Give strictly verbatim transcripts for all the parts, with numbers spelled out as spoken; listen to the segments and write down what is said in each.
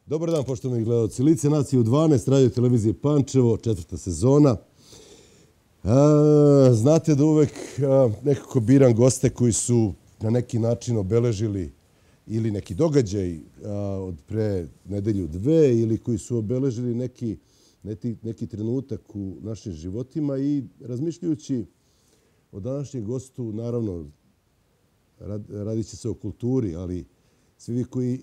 Dobar dan, poštovani gledalci. Lice nacije u dvanaest, radio televizije Pančevo, četvrta sezona. A, znate da uvek a, nekako biram goste koji su na neki način obeležili ili neki događaj a, od pre nedelju dve ili koji su obeležili neki, neki, neki trenutak u našim životima i razmišljajući o današnjem gostu, naravno, rad, radit će se o kulturi, ali svi vi koji,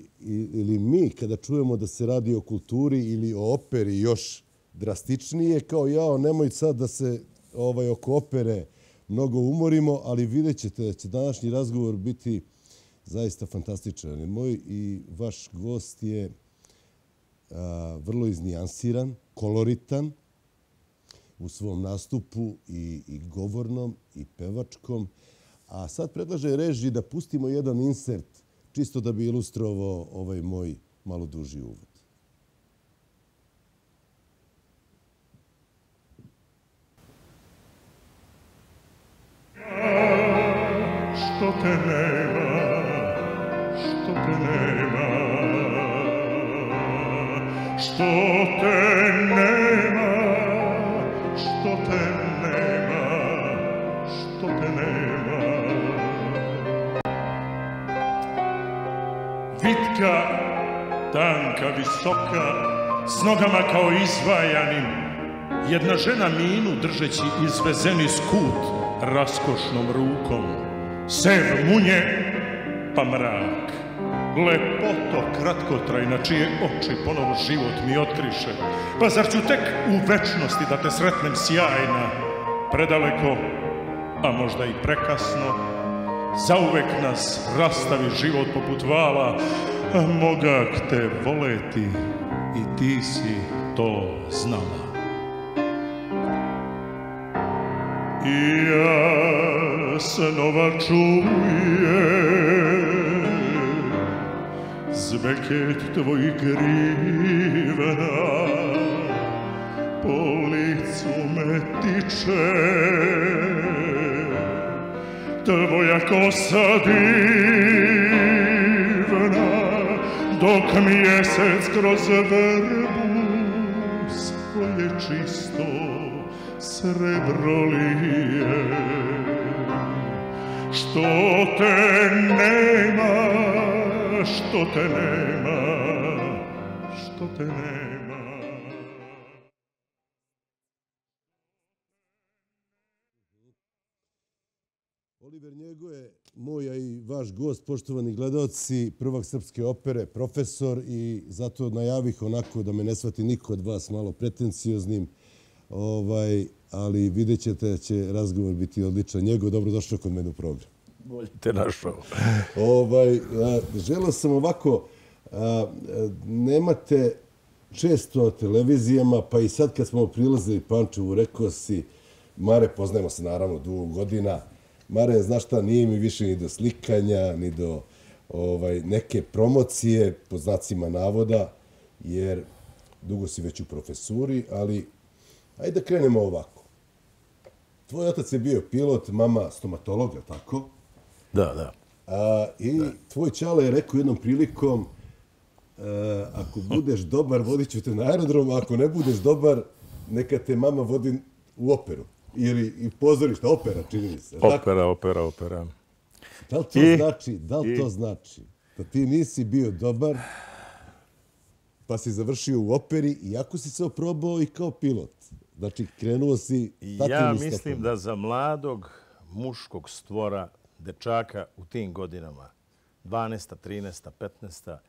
ili mi, kada čujemo da se radi o kulturi ili o operi još drastičnije, kao jao, nemoj sad da se ovaj, oko opere mnogo umorimo, ali vidjet ćete da će današnji razgovor biti zaista fantastičan. Moj i vaš gost je a, vrlo iznijansiran, koloritan u svom nastupu i, i govornom i pevačkom. A sad predlaže režiji da pustimo jedan insert čisto da bi ilustrovao ovaj moj malo duži uvod. Što te nema, što te nema, što te nema, što te nema, što te nema. Vitka, tanka, visoka, s nogama kao izvajanim, jedna žena minu držeći izvezeni skut raskošnom rukom. Sev munje, pa mrak. Lepoto kratkotrajna, čije oči ponovo život mi otkriše. Pa zar ću tek u večnosti da te sretnem sjajna, predaleko, a možda i prekasno, zauvek nas rastavi život poput vala, a mogak te voleti i ti si to znala. I ja snova čujem zveket tvojih krivena, po licu me tiče tvoja kosa divna, dok mjesec kroz vrbu svoje čisto srebro lije. Što te nema, što te nema, što te nema. Oliver Njego je moj, a i vaš gost, poštovani gledalci, prvak srpske opere, profesor, i zato najavih onako da me ne shvati niko od vas malo pretencioznim, ovaj, ali vidjet ćete da će razgovor biti odličan. Njego, dobrodošao kod mene u program. Bolje te našao. Ovaj, želeo sam ovako, a, nemate često na televizijama, pa i sad kad smo prilazili Pančevu, rekao si, Mare, poznajemo se naravno dugo godina, Mare, znaš šta, nije mi više ni do slikanja, ni do ovaj, neke promocije, po znacima navoda, jer dugo si već u profesuri, ali ajde da krenemo ovako. Tvoj otac je bio pilot, mama stomatolog, je tako? Da, da. A, I da. Tvoj ćale je rekao jednom prilikom, a, ako budeš dobar, vodit ću te na aerodrom, a ako ne budeš dobar, neka te mama vodi u operu. Ili i pozorišta, opera, čini mi se. Opera, tako? opera, opera. Da li to I, znači, da li i... to znači da ti nisi bio dobar, pa si završio u operi, iako si se oprobao i kao pilot? Znači, krenuo si tatinim stopom. Ja mislim da za mladog muškog stvora, dečaka u tim godinama, dvanaesta, trinaesta, petnaesta,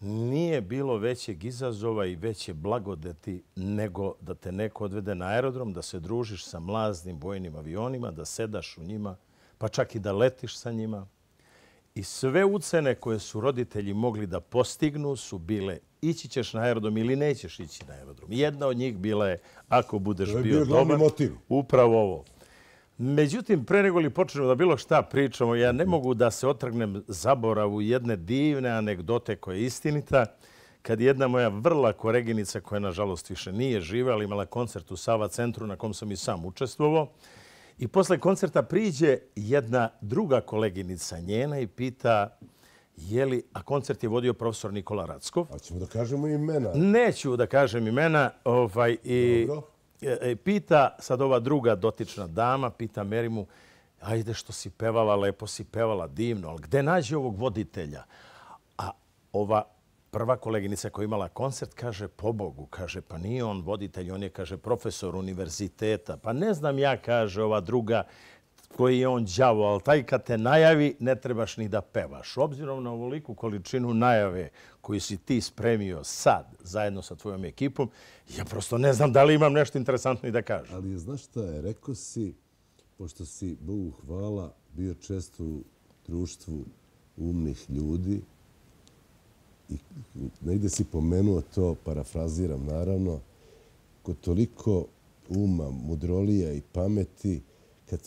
nije bilo većeg izazova i veće blagodeti nego da te neko odvede na aerodrom, da se družiš sa mlaznim vojnim avionima, da sedaš u njima, pa čak i da letiš sa njima. I sve ucene koje su roditelji mogli da postignu su bile ići ćeš na aerodrom ili nećeš ići na aerodrom. Jedna od njih bila je ako budeš bio, bio dobar, motiv. Upravo ovo. Međutim, pre nego li počnemo da bilo šta pričamo, ja ne mogu da se otrgnem zaboravu jedne divne anegdote koja je istinita. Kad jedna moja vrla koleginica, koja nažalost više nije živa, ali imala koncert u Sava centru na kom sam i sam učestvovao, i posle koncerta priđe jedna druga koleginica njena i pita Jeli, a koncert je vodio profesor Nikola Rackov. A ćemo da kažemo imena. Neću da kažem imena. Ovaj, i, i pita sad ova druga dotična dama, pita Merimu, ajde što si pevala, lepo si pevala, divno, ali gde nađe ovog voditelja? A ova prva koleginica koja je imala koncert kaže, pobogu, kaže, pa nije on voditelj, on je, kaže, profesor univerziteta. Pa ne znam ja, kaže ova druga, koji je on đavo, ali taj kad te najavi, ne trebaš ni da pevaš. Obzirom na ovoliku količinu najave koju si ti spremio sad, zajedno sa tvojom ekipom, ja prosto ne znam da li imam nešto interesantno i da kažem. Ali znaš šta je, rekao si, pošto si, Bogu hvala, bio često u društvu umnih ljudi i negde si pomenuo to, parafraziram naravno, kod toliko uma, mudrolija i pameti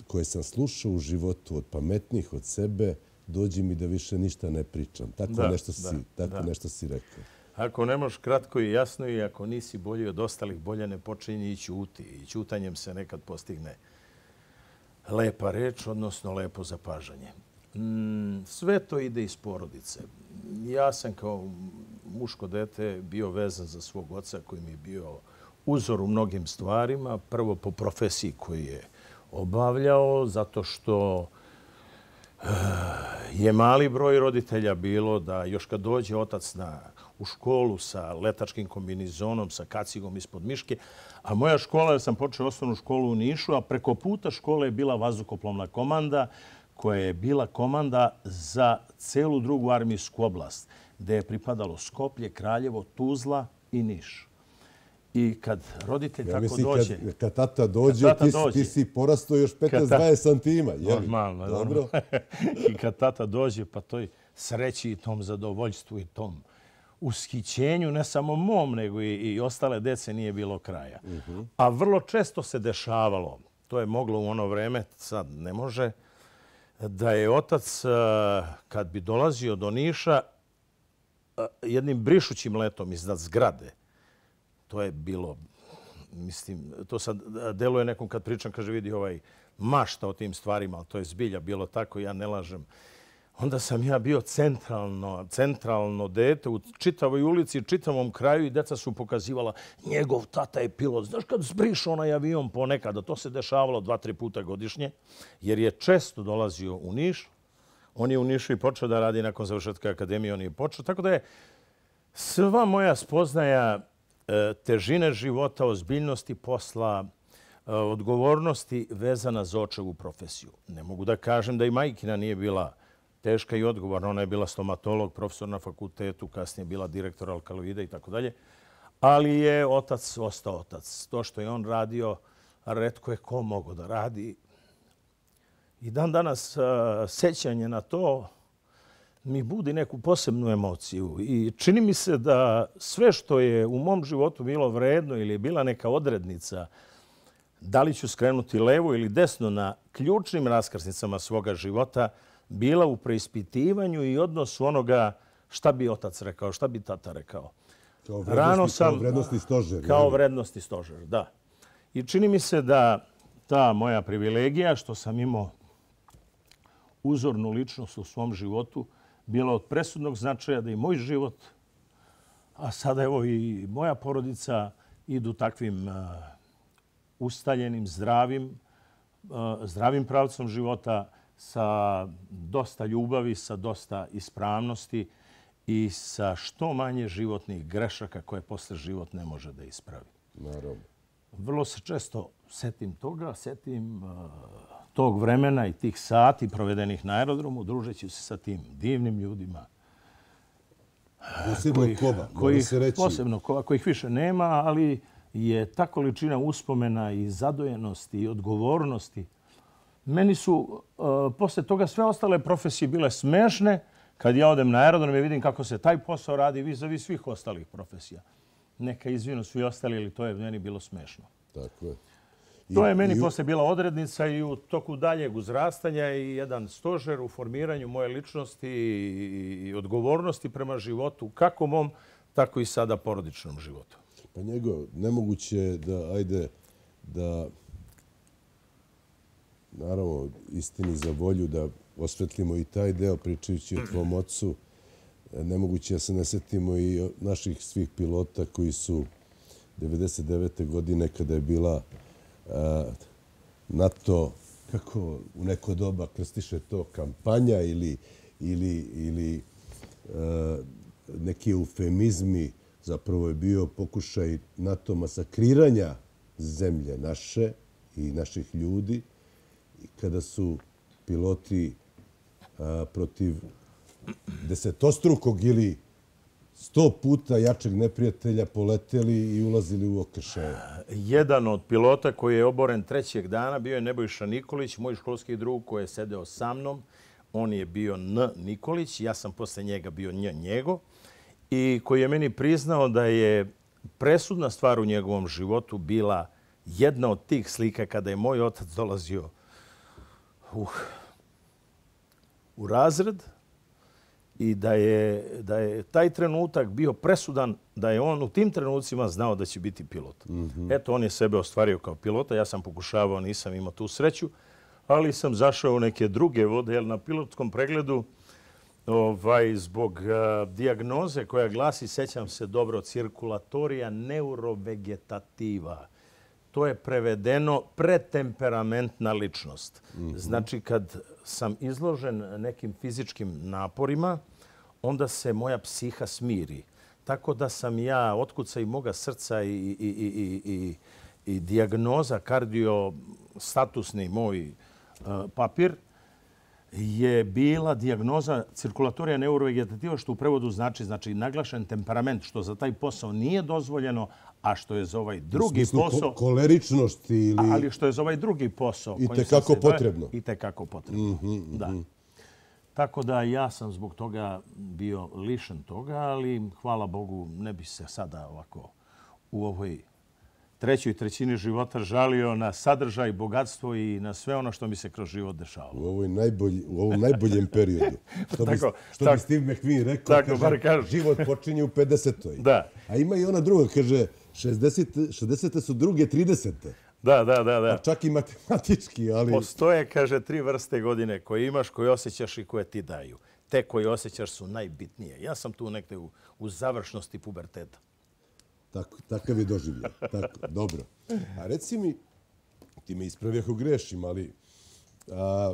koje sam slušao u životu od pametnih od sebe, dođi mi da više ništa ne pričam. Tako da, nešto si, da, tako da. nešto si rekao. Ako ne možeš kratko i jasno i ako nisi bolji od ostalih, bolje ne počinji i ćuti. I ćutanjem se nekad postigne lepa reč, odnosno lepo zapažanje. Mm, sve to ide iz porodice. Ja sam kao muško dete bio vezan za svog oca koji mi je bio uzor u mnogim stvarima. Prvo po profesiji koju je obavljao, zato što je mali broj roditelja bilo da još kad dođe otac na, u školu sa letačkim kombinizonom, sa kacigom ispod miške, a moja škola, ja sam počeo osnovnu školu u Nišu, a preko puta škole je bila vazduhoplovna komanda, koja je bila komanda za celu drugu armijsku oblast, gde je pripadalo Skoplje, Kraljevo, Tuzla i Niš. I kad roditelj ja tako mislim, dođe... Kad, kad tata dođe, kad tata ti, dođe, ti si porastao još petnaest dvadeset santima. Normalno. Dobro. I kad tata dođe, pa toj sreći i tom zadovoljstvu i tom ushićenju, ne samo mom, nego i, i ostale dece nije bilo kraja. Uh-huh. A vrlo često se dešavalo, to je moglo u ono vreme, sad ne može, da je otac, kad bi dolazio do Niša, jednim brišućim letom iznad zgrade, to je bilo, mislim, to sad deluje nekom kad pričam, kaže, vidi ovaj mašta o tim stvarima, ali to je zbilja bilo tako, ja ne lažem. Onda sam ja bio centralno, centralno dete u čitavoj ulici, čitavom kraju i deca su pokazivala njegov tata je pilot. Znaš kad zbriš onaj avion ponekada, to se dešavalo dva, tri puta godišnje, jer je često dolazio u Niš. On je u Nišu i počeo da radi nakon završetka akademije, on je počeo. Tako da je sva moja spoznaja težine života, ozbiljnosti posla, odgovornosti vezana za očevu profesiju. Ne mogu da kažem da i majkina nije bila teška i odgovorna. Ona je bila stomatolog, profesor na fakultetu, kasnije bila direktor alkaloida i tako dalje. Ali je otac ostao otac. To što je on radio, retko je ko mogo da radi. I dan danas sećanje na to mi budi neku posebnu emociju. I čini mi se da sve što je u mom životu bilo vredno ili je bila neka odrednica, da li ću skrenuti levo ili desno na ključnim raskrsnicama svoga života, bila u preispitivanju i odnosu onoga šta bi otac rekao, šta bi tata rekao. Kao vrednosti, sam, kao vrednosti stožer. Kao je. vrednosti stožer, da. I čini mi se da ta moja privilegija što sam imao uzornu ličnost u svom životu bila od presudnog značaja da i moj život, a sada evo i moja porodica, idu takvim uh, ustaljenim, zdravim, uh, zdravim pravcom života sa dosta ljubavi, sa dosta ispravnosti i sa što manje životnih grešaka koje posle život ne može da ispravi. Naravno. Vrlo se često setim toga, setim uh, tog vremena i tih sati provedenih na aerodromu, družeći se sa tim divnim ljudima. Posebno kojih, kova, kojih, se reći. Posebno kova, kojih više nema, ali je ta količina uspomena i zadojenosti i odgovornosti. Meni su uh, posle toga sve ostale profesije bile smešne. Kad ja odem na aerodrom i vidim kako se taj posao radi vis-a-vis svih ostalih profesija. Neka izvinu svi ostali, ali to je meni bilo smešno. Tako je. I, to je meni i... posle bila odrednica i u toku daljeg uzrastanja i jedan stožer u formiranju moje ličnosti i, i odgovornosti prema životu, kako mom, tako i sada porodičnom životu. Pa njego, nemoguće je da, ajde, da, naravno, istini za volju, da osvetlimo i taj deo pričajući o tvom ocu, nemoguće da se ne setimo i naših svih pilota koji su devedeset devete godine, kada je bila NATO, kako u neko doba krstiše to, kampanja ili, ili, ili neki eufemizmi, zapravo je bio pokušaj NATO masakriranja zemlje naše i naših ljudi, kada su piloti protiv desetostrukog ili sto puta jačeg neprijatelja poleteli i ulazili u okršaje. Jedan od pilota koji je oboren trećeg dana bio je Nebojša Nikolić, moj školski drug koji je sedeo sa mnom. On je bio N. Nikolić, ja sam posle njega bio Nj. njego, i koji je meni priznao da je presudna stvar u njegovom životu bila jedna od tih slika kada je moj otac dolazio uh, u razred i da je, da je taj trenutak bio presudan, da je on u tim trenucima znao da će biti pilot. Mm-hmm. Eto, on je sebe ostvario kao pilota. Ja sam pokušavao, nisam imao tu sreću, ali sam zašao u neke druge vode, jer na pilotskom pregledu ovaj, zbog uh, dijagnoze koja glasi, sećam se dobro, cirkulatorija neurovegetativa. To je prevedeno pretemperamentna ličnost. Mm-hmm. Znači, kad sam izložen nekim fizičkim naporima, onda se moja psiha smiri. Tako da sam ja, otkuca i moga srca i, i, i, i, i, i dijagnoza, kardiostatusni moj uh, papir, je bila dijagnoza cirkulatorija neurovegetativa, što u prevodu znači, znači naglašen temperament, što za taj posao nije dozvoljeno, a što je za ovaj drugi posao... koleričnosti ili... Ali što je za ovaj drugi posao... I tekako potrebno. I tekako potrebno, da. Tako da ja sam zbog toga bio lišen toga, ali hvala Bogu ne bi se sada ovako u ovoj trećoj trećini života žalio na sadržaj, bogatstvo i na sve ono što mi se kroz život dešavalo. U, ovoj najbolji, u ovom najboljem periodu. Što, bi, tako, što tako, bi Steve McQueen rekao, tako, kaže, kaže, život počinje u pedesetoj. Da. A ima i ona druga, kaže, šezdesete su druge tridesete. Da, da, da, da. A čak i matematički, ali... Postoje, kaže, tri vrste godine koje imaš, koje osjećaš i koje ti daju. Te koje osjećaš su najbitnije. Ja sam tu nekde u, u završnosti puberteta. Tako, takav je doživljaj. Tako, dobro. A reci mi, ti me ispravi ako grešim, ali a,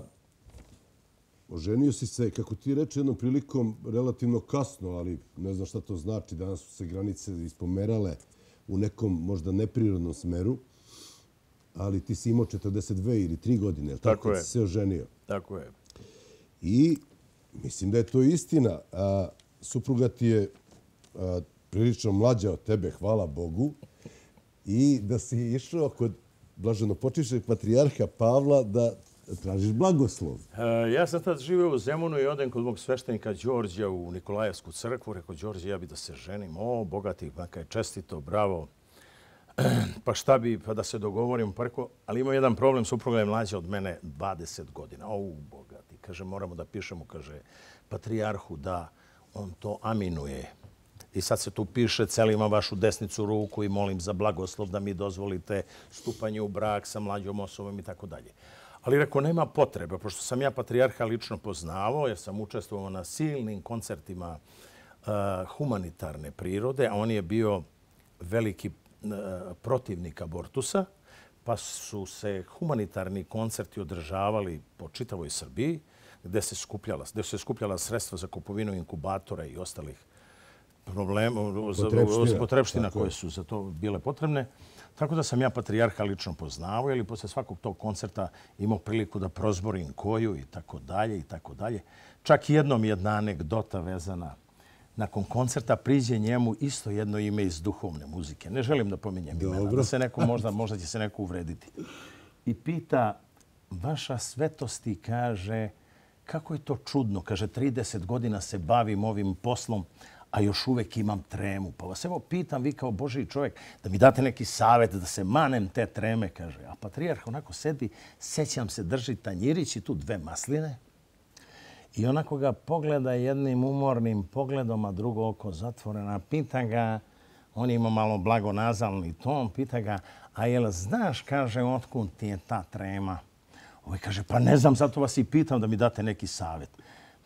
oženio si se, kako ti reče, jednom prilikom relativno kasno, ali ne znam šta to znači. Danas su se granice ispomerale u nekom možda neprirodnom smeru, ali ti si imao četrdeset dve ili tri godine, tako, tako je. Si se oženio. Tako je. I mislim da je to istina. A, supruga ti je a, prilično mlađa od tebe, hvala Bogu, i da si išao kod blaženopočivšeg patrijarha Pavla da tražiš blagoslov. E, ja sam tad živio u Zemunu i odem kod mog sveštenika Đorđa u Nikolajevsku crkvu. Rekao, Đorđe, ja bi da se ženim. O, bogati, baka je čestito, bravo. Pa šta bi, pa da se dogovorim. Pa rekao, ali ima jedan problem, supruga je mlađa od mene dvadeset godina. O, bogati. Kaže, moramo da pišemo, kaže, patrijarhu da on to aminuje. I sad se tu piše, celima vašu desnicu ruku i molim za blagoslov da mi dozvolite stupanje u brak sa mlađom osobom i tako dalje. Ali rekao, nema potrebe, pošto sam ja patrijarha lično poznavao, jer sam učestvovao na silnim koncertima uh, humanitarne prirode, a on je bio veliki uh, protivnik abortusa, pa su se humanitarni koncerti održavali po čitavoj Srbiji, gde se skupljala, gde se skupljala sredstva za kupovinu inkubatora i ostalih problema, potrebština, potrebština koje su za to bile potrebne. Tako da sam ja patrijarha lično poznavao, ili posle svakog tog koncerta imao priliku da prozborim koju i tako dalje i tako dalje. Čak jednom jedna anegdota vezana. Nakon koncerta priđe njemu isto jedno ime iz duhovne muzike. Ne želim da pominjem imena, da se neko možda, možda će se neko uvrediti. I pita, vaša svetosti, kaže, kako je to čudno, kaže, trideset godina se bavim ovim poslom, a još uvek imam tremu. Pa vas evo pitam, vi kao Božji čovjek, da mi date neki savjet da se manem te treme, kaže. A patrijarh onako sedi, sećam se, drži tanjirić i tu dve masline. I onako ga pogleda jednim umornim pogledom, a drugo oko zatvorena. Pita ga, on ima malo blagonazalni ton, pita ga, a jel znaš, kaže, otkud ti je ta trema? Ovaj kaže, pa ne znam, zato vas i pitam da mi date neki savjet.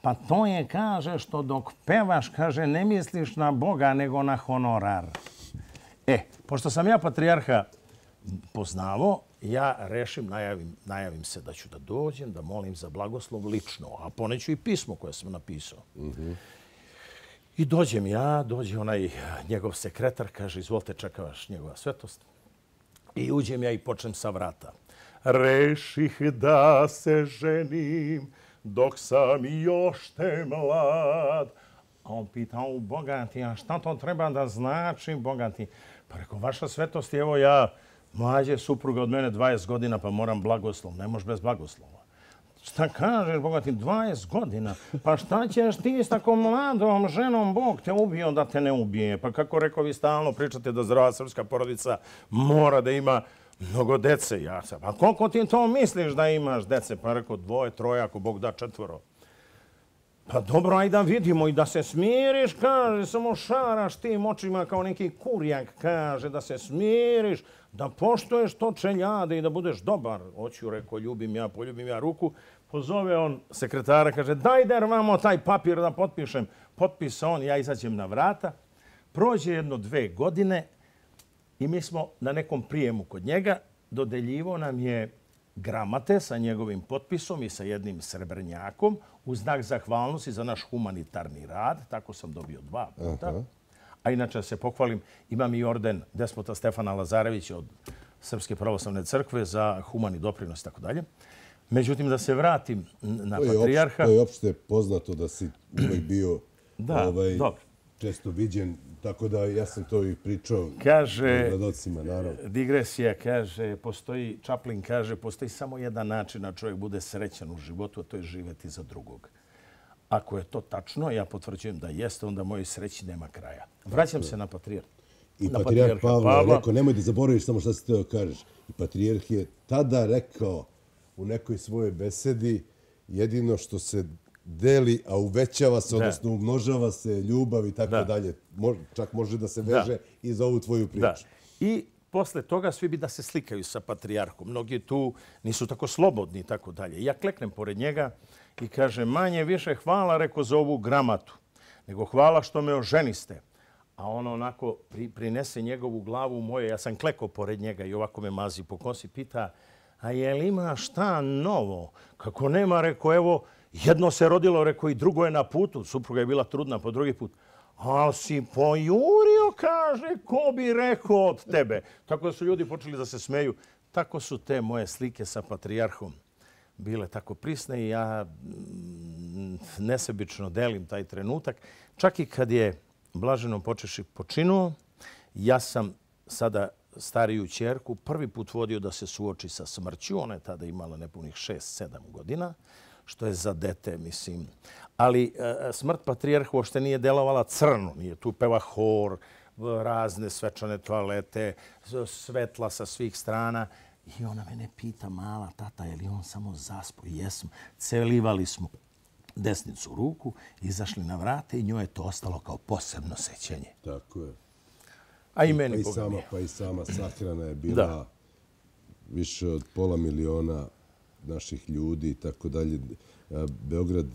Pa to je, kaže, što dok pevaš, kaže, ne misliš na Boga, nego na honorar. E, pošto sam ja patrijarha poznavo, ja rešim, najavim, najavim se da ću da dođem, da molim za blagoslov lično, a poneću i pismo koje sam napisao. Mm-hmm. I dođem ja, dođe onaj njegov sekretar, kaže, izvolite, čeka vaš njegova svetost. I uđem ja i počnem sa vrata. Reših da se ženim dok sam još te mlad. A on pita, o bogati, a šta to treba da znači, bogati? Pa rekao, vaša svetost, evo ja, mlađe supruga od mene dvadeset godina, pa moram blagoslov. Ne možeš bez blagoslova. Šta kažeš, bogati, dvadeset godina? Pa šta ćeš ti s tako mladom ženom? Bog te ubio da te ne ubije. Pa kako rekao, vi stalno pričate da zdrava srpska porodica mora da ima mnogo dece. Ja sam, pa koliko ti to misliš da imaš dece? Pa rekao, dvoje, troje, ako Bog da četvoro. Pa dobro, aj da vidimo i da se smiriš, kaže, samo šaraš tim očima kao neki kurjak, kaže, da se smiriš, da poštuješ to čeljade i da budeš dobar. Hoću, rekao, ljubim ja, poljubim ja ruku. Pozove on sekretara, kaže, daj der vamo taj papir da potpišem. Potpisa on, ja izađem na vrata. Prođe jedno dve godine i mi smo na nekom prijemu kod njega. Dodeljivo nam je gramate sa njegovim potpisom i sa jednim srebrnjakom u znak zahvalnosti za naš humanitarni rad. Tako sam dobio dva puta. Aha. A inače se pohvalim, imam i orden despota Stefana Lazarevića od Srpske pravoslavne crkve za humani doprinos i tako dalje. Međutim, da se vratim na patrijarha... To je opšte poznato da si uvek bio da, ovaj, dobro. često viđen, tako da ja sam to i pričao kaže, gledocima, naravno. Digresija kaže, postoji, Chaplin kaže, postoji samo jedan način da čovjek bude srećan u životu, a to je živjeti za drugog. Ako je to tačno, ja potvrđujem da jeste, onda mojoj sreći nema kraja. Vraćam se na patrijarha. I patrijarh Pavle je rekao, nemoj da zaboraviš samo što si teo kažeš. I patrijarh je tada rekao u nekoj svojoj besedi jedino što se deli, a uvećava se, odnosno umnožava se ljubav i tako dalje. Čak može da se veže i za ovu tvoju priču. Da. I posle toga svi bi da se slikaju sa patrijarhom. Mnogi tu nisu tako slobodni i tako dalje. Ja kleknem pored njega i kaže, manje više hvala, rekao, za ovu gramatu, nego hvala što me oženiste. A on onako pri, prinese njegovu glavu u moje. Ja sam klekao pored njega i ovako me mazi po kosi, pita, a je li ima šta novo? Kako nema, rekao, evo, jedno se rodilo, rekao, i drugo je na putu. Supruga je bila trudna po drugi put. A si pojurio, kaže, ko bi rekao od tebe. Tako da su ljudi počeli da se smeju. Tako su te moje slike sa patrijarhom bile tako prisne i ja nesebično delim taj trenutak. Čak i kad je blaženo počeši počinuo, ja sam sada stariju ćerku prvi put vodio da se suoči sa smrću. Ona je tada imala nepunih šest sedam godina, što je za dete, mislim. Ali smrt patrijarha uopšte nije delovala crno. Nije tu peva hor, razne svečane toalete, svetla sa svih strana. I ona mene pita, mala tata, je li on samo zaspo? Jesmo. Celivali smo desnicu ruku, izašli na vrate i njoj je to ostalo kao posebno sećanje. Tako je. A i meni, pa i Boga sama, mi je. Pa i sama sahrana je bila da. više od pola miliona naših ljudi i tako dalje. Beograd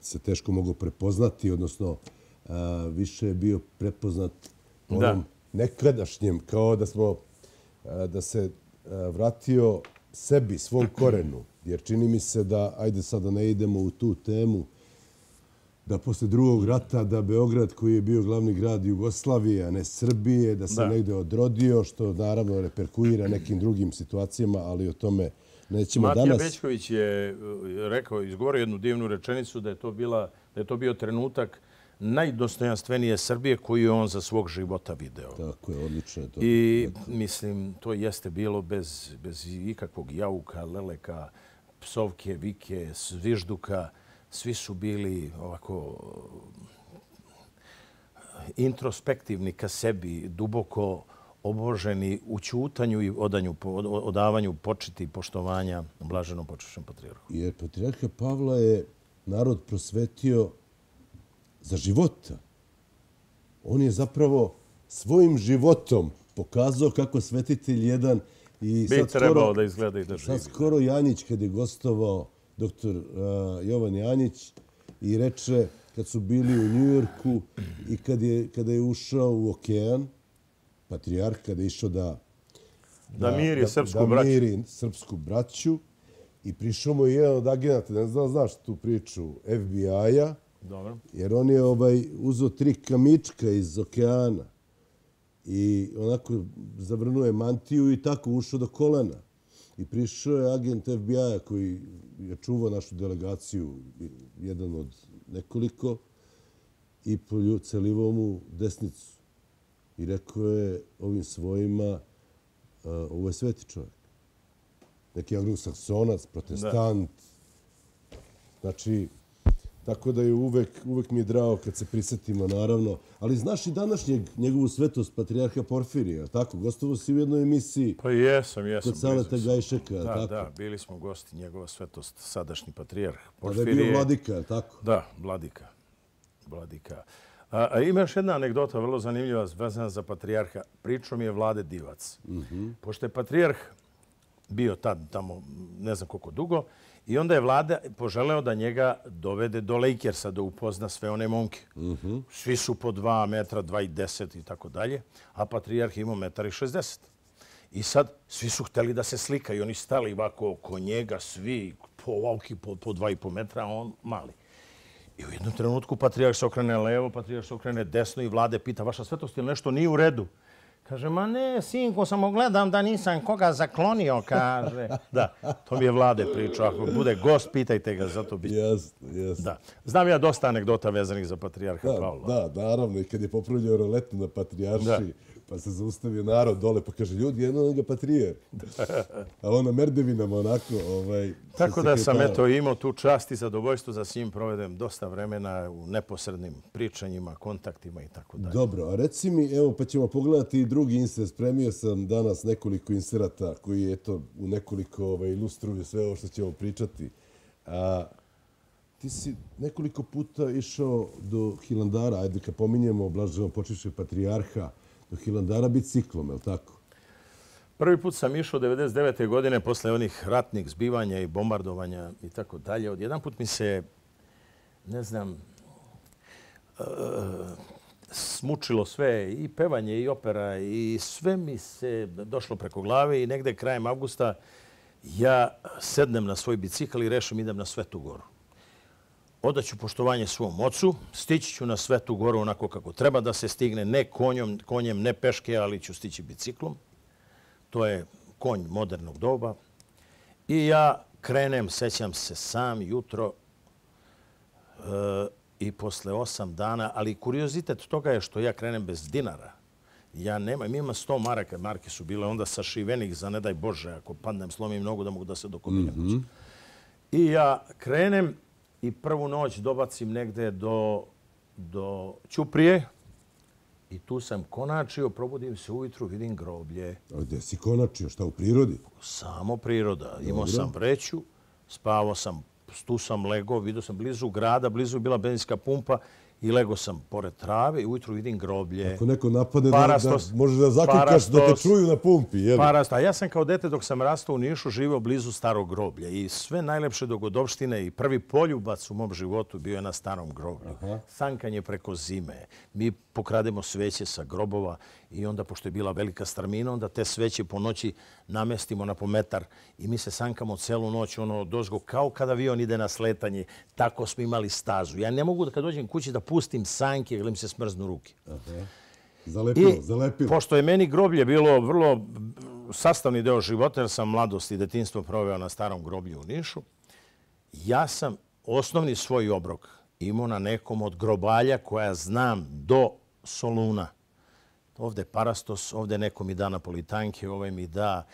se teško mogu prepoznati, odnosno više je bio prepoznat onom nekadašnjem, kao da smo da se vratio sebi, svom korenu. Jer čini mi se da, ajde sada ne idemo u tu temu, da posle drugog rata, da Beograd koji je bio glavni grad Jugoslavije, a ne Srbije, da se da. negde odrodio, što naravno reperkuira nekim drugim situacijama, ali o tome nećemo Matija danas. Matija Bećković je rekao, izgovorio jednu divnu rečenicu da je to, bila, da je to bio trenutak najdostojanstvenije Srbije koju je on za svog života video. Tako je, odlično je to. I mislim, to jeste bilo bez, bez ikakvog jauka, leleka, psovke, vike, zvižduka. Svi su bili ovako introspektivni ka sebi, duboko oboženi u ćutanju i odanju, odavanju početi i poštovanja blaženom počešćem patrijarhu. Jer patrijarha Pavla je narod prosvetio za života. On je zapravo svojim životom pokazao kako svetitelj jedan i bi trebao da izgleda i da živi. Sad skoro Janjić, kad je gostovao doktor Jovan Janjić, i reče kad su bili u Njujorku i kad je, kada je ušao u okean, patrijarh, kada je išao da, da, da miri srpsku da, braću. Da miri srpsku braću i prišao mu je jedan od agenata, ne znam, znaš tu priču, F B I-a, Dobro. jer on je ovaj, uzeo tri kamička iz okeana i onako zavrnuo mantiju i tako ušao do kolena. I prišao je agent F B I-a koji je čuvao našu delegaciju, jedan od nekoliko, i poljucelivao mu desnicu. I rekao je ovim svojima, uh, ovo je sveti čovjek. Neki anglosaksonac, protestant. Da. Znači, tako da je uvek, uvek mi je drago kad se prisjetimo, naravno. Ali znaš i današnjeg njegovu svetost patrijarha Porfirija, tako? Gostovo si u jednoj emisiji. Pa jesam, jesam. Kod Saleta Gajšeka, da, tako? Da, bili smo gosti njegova svetost, sadašnji patrijarh Porfirije. Porfirije. Da je bio vladika, tako? Da, vladika. Vladika. A, a ima još jedna anegdota, vrlo zanimljiva, vezana za patrijarha. Pričao mi je Vlade Divac. Mm-hmm. Pošto je patrijarh bio tad tamo ne znam koliko dugo, i onda je Vlada poželeo da njega dovede do Lakersa, da upozna sve one momke. Mm-hmm. Svi su po dva metra, dva i deset i tako dalje, a patrijarh imao metar i šezdeset. I sad svi su hteli da se slikaju, oni stali ovako oko njega, svi po ovaki, po, po dva i po metra, a on mali. I u jednom trenutku patrijarh se okrene levo, patrijarh se okrene desno i Vlade pita, vaša svetost, ili nešto nije u redu? Kaže, ma ne, sinko, samo gledam da nisam koga zaklonio, kaže. Da, to mi je Vlade pričao. Ako bude gost, pitajte ga, zato bi... Jasno, jasno. Da. Znam ja dosta anegdota vezanih za patrijarha da, Pavla. Da, naravno. I kad je popravljao roletu na patrijarši, da. Pa se zaustavio narod dole, pa kaže, ljudi, jedno onoga patrijarh. A on na merdevinama onako... Ovaj, tako da sam eto imao tu čast i zadovoljstvo za s njim provedem dosta vremena u neposrednim pričanjima, kontaktima i tako dalje. Dobro, a reci mi, evo, pa ćemo pogledati i drugi insert. Spremio sam danas nekoliko inserata koji, eto, u nekoliko ovaj, ilustruju sve ovo što ćemo pričati. A, ti si nekoliko puta išao do Hilandara, ajde kad pominjemo blaženo počivše patrijarha, do Hilandara biciklom, je li tako? Prvi put sam išao devedeset devete godine posle onih ratnih zbivanja i bombardovanja i tako dalje. Odjedan put mi se, ne znam, uh, smučilo sve, i pevanje, i opera, i sve mi se došlo preko glave i negde krajem avgusta ja sednem na svoj bicikl i rešim idem na Svetu Goru. Odaću poštovanje svom ocu, stići ću na Svetu Goru onako kako treba da se stigne, ne konjom, konjem, ne peške, ali ću stići biciklom. To je konj modernog doba. I ja krenem, sećam se sam jutro e, i posle osam dana, ali kuriozitet toga je što ja krenem bez dinara. Ja nemam, imam sto maraka, marke su bile onda sašivenih za ne daj Bože, ako padnem, slomim nogu da mogu da se dokobiljem. Mm-hmm. I ja krenem i prvu noć dobacim negde do, do Ćuprije i tu sam konačio, probudim se ujutru, vidim groblje. A gde si konačio? Šta, u prirodi? Samo priroda. Imao sam vreću, spavao sam, tu sam legao, vidio sam blizu grada, blizu je bila benzinska pumpa i legao sam pored trave i ujutru vidim groblje. Ako neko napadne, Parastos, da, da možeš da zakukaš da te čuju na pumpi. Jel? Parastos. A ja sam kao dete dok sam rastao u Nišu živio blizu starog groblja i sve najlepše dogodovštine i prvi poljubac u mom životu bio je na starom groblju. Aha. Sankanje preko zime. Mi pokrademo sveće sa grobova i onda, pošto je bila velika strmina, onda te sveće po noći namestimo na pometar i mi se sankamo celu noć ono dozgo kao kada avion ide na sletanje. Tako smo imali stazu. Ja ne mogu da kad dođem kući da pustim sanke ili mi se smrznu ruke. Aha. Zalepilo, I zalepilo. Pošto je meni groblje bilo vrlo sastavni deo života, jer sam mladost i detinjstvo proveo na starom groblju u Nišu, ja sam osnovni svoj obrok imao na nekom od grobalja koja znam do Soluna. Ovde Parastos, ovde neko mi da napolitanke, ovaj mi da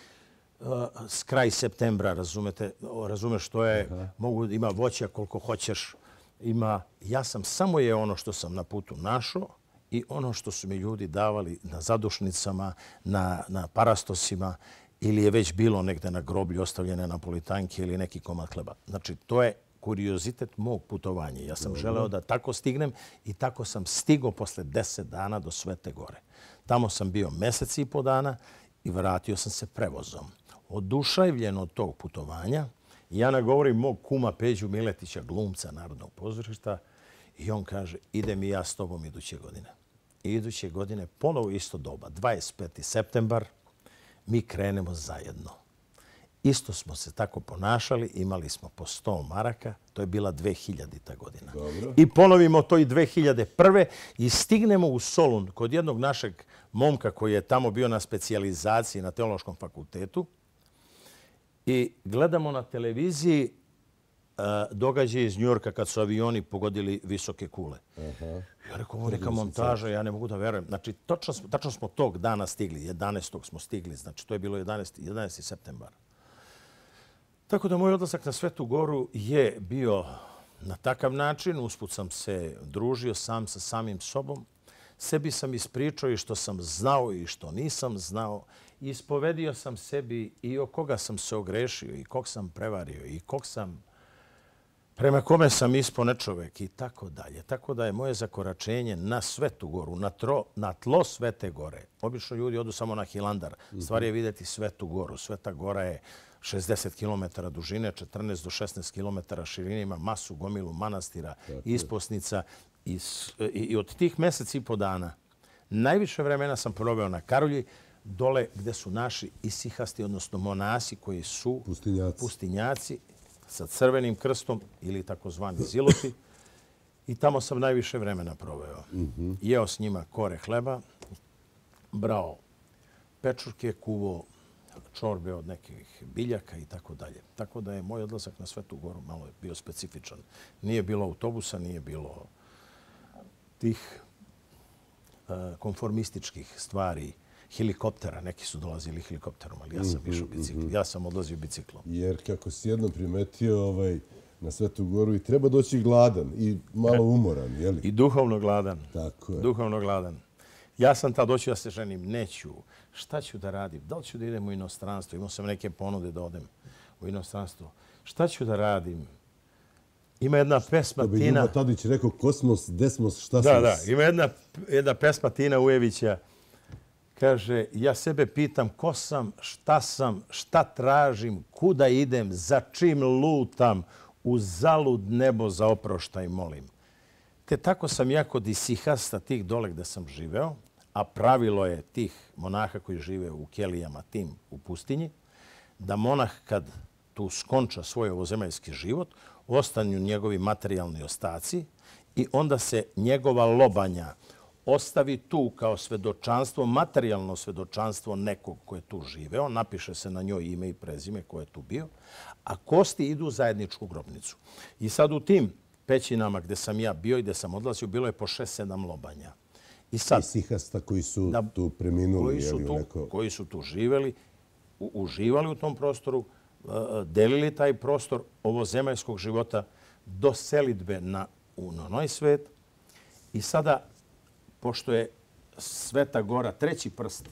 uh, s kraj septembra, razumete, razumeš što je, aha, mogu, ima voća koliko hoćeš, ima, ja sam, samo je ono što sam na putu našao i ono što su mi ljudi davali na zadušnicama, na, na Parastosima ili je već bilo negde na groblju ostavljene napolitanke ili neki komad hleba. Znači, to je kuriozitet mog putovanja. Ja sam želeo da tako stignem i tako sam stigao posle deset dana do Svete Gore. Tamo sam bio mesec i po dana i vratio sam se prevozom. Oduševljen od tog putovanja, I ja nagovorim mog kuma Peđu Miletića, glumca Narodnog pozorišta, i on kaže, idem i ja s tobom iduće godine. I iduće godine, ponovo isto doba, dvadeset peti septembar, mi krenemo zajedno. Isto smo se tako ponašali, imali smo po sto maraka, to je bila dve hiljadita godina. Dobro. I ponovimo to i dve hiljade prve i stignemo u Solun kod jednog našeg momka koji je tamo bio na specijalizaciji na Teološkom fakultetu i gledamo na televiziji događaj iz Njujorka kad su avioni pogodili visoke kule. Aha. Ja rekao, ovo neka montaža, ja ne mogu da verujem. Znači, točno smo, tačno smo tog dana stigli, jedanaestog smo stigli, znači to je bilo jedanaesti septembar. Tako da moj odlazak na Svetu Goru je bio na takav način. Usput sam se družio sam sa samim sobom. Sebi sam ispričao i što sam znao i što nisam znao. Ispovedio sam sebi i o koga sam se ogrešio i kog sam prevario i kog sam prema kome sam ispao nečovek i tako dalje. Tako da je moje zakoračenje na Svetu Goru, na, tro, na tlo Svete Gore. Obično ljudi odu samo na Hilandar. Stvar je vidjeti Svetu Goru. Sveta Gora je šezdeset kilometara dužine, četrnaest do šesnaest kilometara širine, ima masu gomilu manastira, isposnica. I, i, I od tih mjesec i po dana najviše vremena sam proveo na Karolji, dole gde su naši isihasti, odnosno monasi koji su pustinjaci, pustinjaci sa crvenim krstom ili takozvani ziloti. I tamo sam najviše vremena proveo. Mm-hmm. Jeo s njima kore hleba, brao pečurke, kuvo čorbe od nekih biljaka i tako dalje. Tako da je moj odlazak na Svetu Goru malo bio specifičan. Nije bilo autobusa, nije bilo tih uh, konformističkih stvari, helikoptera. Neki su dolazili helikopterom, ali ja sam išao bicikl. Ja sam odlazio biciklom. Jer kako si jednom primetio ovaj, na Svetu Goru i treba doći gladan i malo umoran, je li? I duhovno gladan. Tako je. Duhovno gladan. Ja sam tad doću da se ženim. Neću. Šta ću da radim? Da li ću da idem u inostranstvo? Imao sam neke ponude da odem u inostranstvo. Šta ću da radim? Ima jedna pesma Tina... To bi Tina... Ljubo Tadić rekao kosmos, desmos, šta da, sam... Da, ima jedna, jedna pesma Tina Ujevića. Kaže, ja sebe pitam ko sam, šta sam, šta tražim, kuda idem, za čim lutam, u zalud nebo za oproštaj molim. Te tako sam ja kod isihasta tih dole gde sam živeo, a pravilo je tih monaha koji žive u kelijama tim u pustinji, da monah kad tu skonča svoj ovozemaljski život, ostanju njegovi materijalni ostaci i onda se njegova lobanja ostavi tu kao svedočanstvo, materijalno svedočanstvo nekog ko je tu živeo, napiše se na njoj ime i prezime ko je tu bio, a kosti idu u zajedničku grobnicu. I sad u tim pećinama gde sam ja bio i gde sam odlazio, bilo je po šest sedam lobanja. I sad, isihasta koji su da, tu preminuli. Koji su, tu, neko... koji su tu živeli, u, uživali u tom prostoru, delili taj prostor ovozemaljskog života do selidbe na, u Nonoj svet. I sada, pošto je Sveta Gora treći prst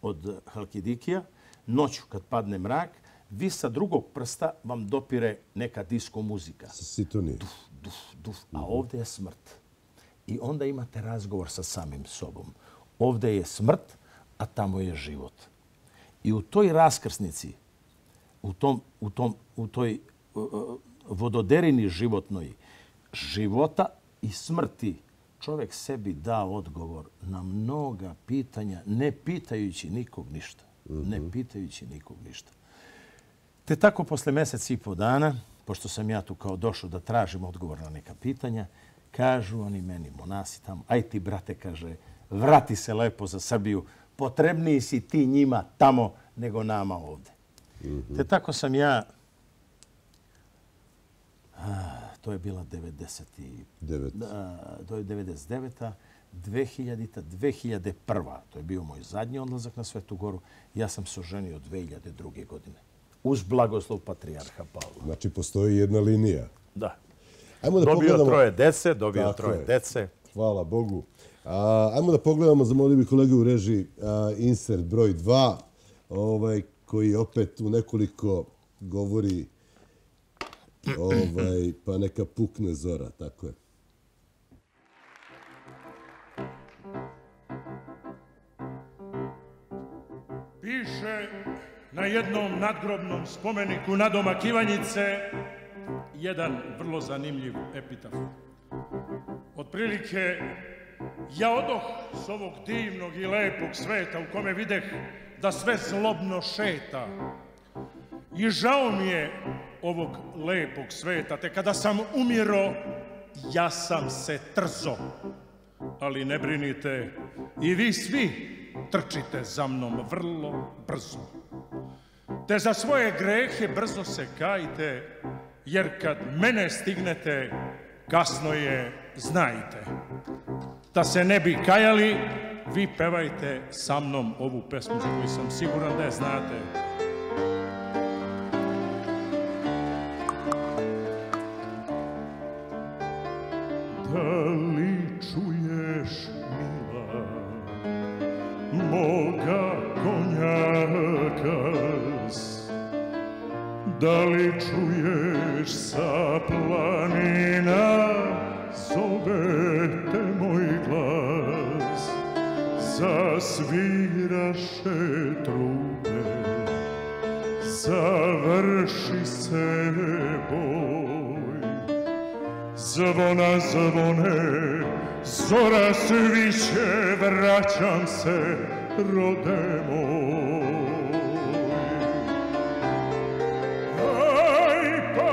od Halkidikija, noću kad padne mrak, vi sa drugog prsta vam dopire neka disko muzika. Sitonije. Duf, duf, duf. A ovdje je smrt. I onda imate razgovor sa samim sobom. Ovdje je smrt, a tamo je život. I u toj raskrsnici, u, tom, u, tom, u toj uh, vododerini životnoj života i smrti, čovjek sebi da odgovor na mnoga pitanja, ne pitajući nikog ništa. Mm-hmm. Ne pitajući nikog ništa. Te tako, posle mjesec i po dana, pošto sam ja tu kao došao da tražim odgovor na neka pitanja, kažu oni meni, monasi tamo, aj ti, brate, kaže, vrati se lepo za Srbiju, potrebniji si ti njima tamo nego nama ovdje. Mm-hmm. Te tako sam ja, a, to je bila devedeset devet. Da, to je devedeset deveta. dve hiljadita. dve hiljade prva. To je bio moj zadnji odlazak na Svetu Goru. Ja sam se oženio dve hiljade druge. godine. Uz blagoslov patrijarha Pavla. Znači, postoji jedna linija. Da. Ajmo da dobio pogledamo... troje dece, dobio Tako troje je. dece. Hvala Bogu. A, ajmo da pogledamo, zamolio bih kolege u režiji, a, insert broj dva, ovaj, koji opet u nekoliko govori, ovaj, pa neka pukne zora, tako je. Piše na jednom nadgrobnom spomeniku nadomak Ivanjice jedan vrlo zanimljiv epitaf. Otprilike, ja odoh s ovog divnog i lepog sveta u kome videh da sve zlobno šeta. I žao mi je ovog lepog sveta, te kada sam umiro, ja sam se trzo. Ali ne brinite, i vi svi trčite za mnom vrlo brzo. Te za svoje grehe brzo se kajte, jer kad mene stignete, kasno je, znajte. Da se ne bi kajali, vi pevajte sa mnom ovu pesmu za koju sam siguran da je znate. Da li čuješ, mila, moga konjaka? Da li čuješ sa planina, zove te moj glas? Zasviraše trube, završi se boj. Zvona zvone, zora sviće, vraćam se, rode moj. Aj pa,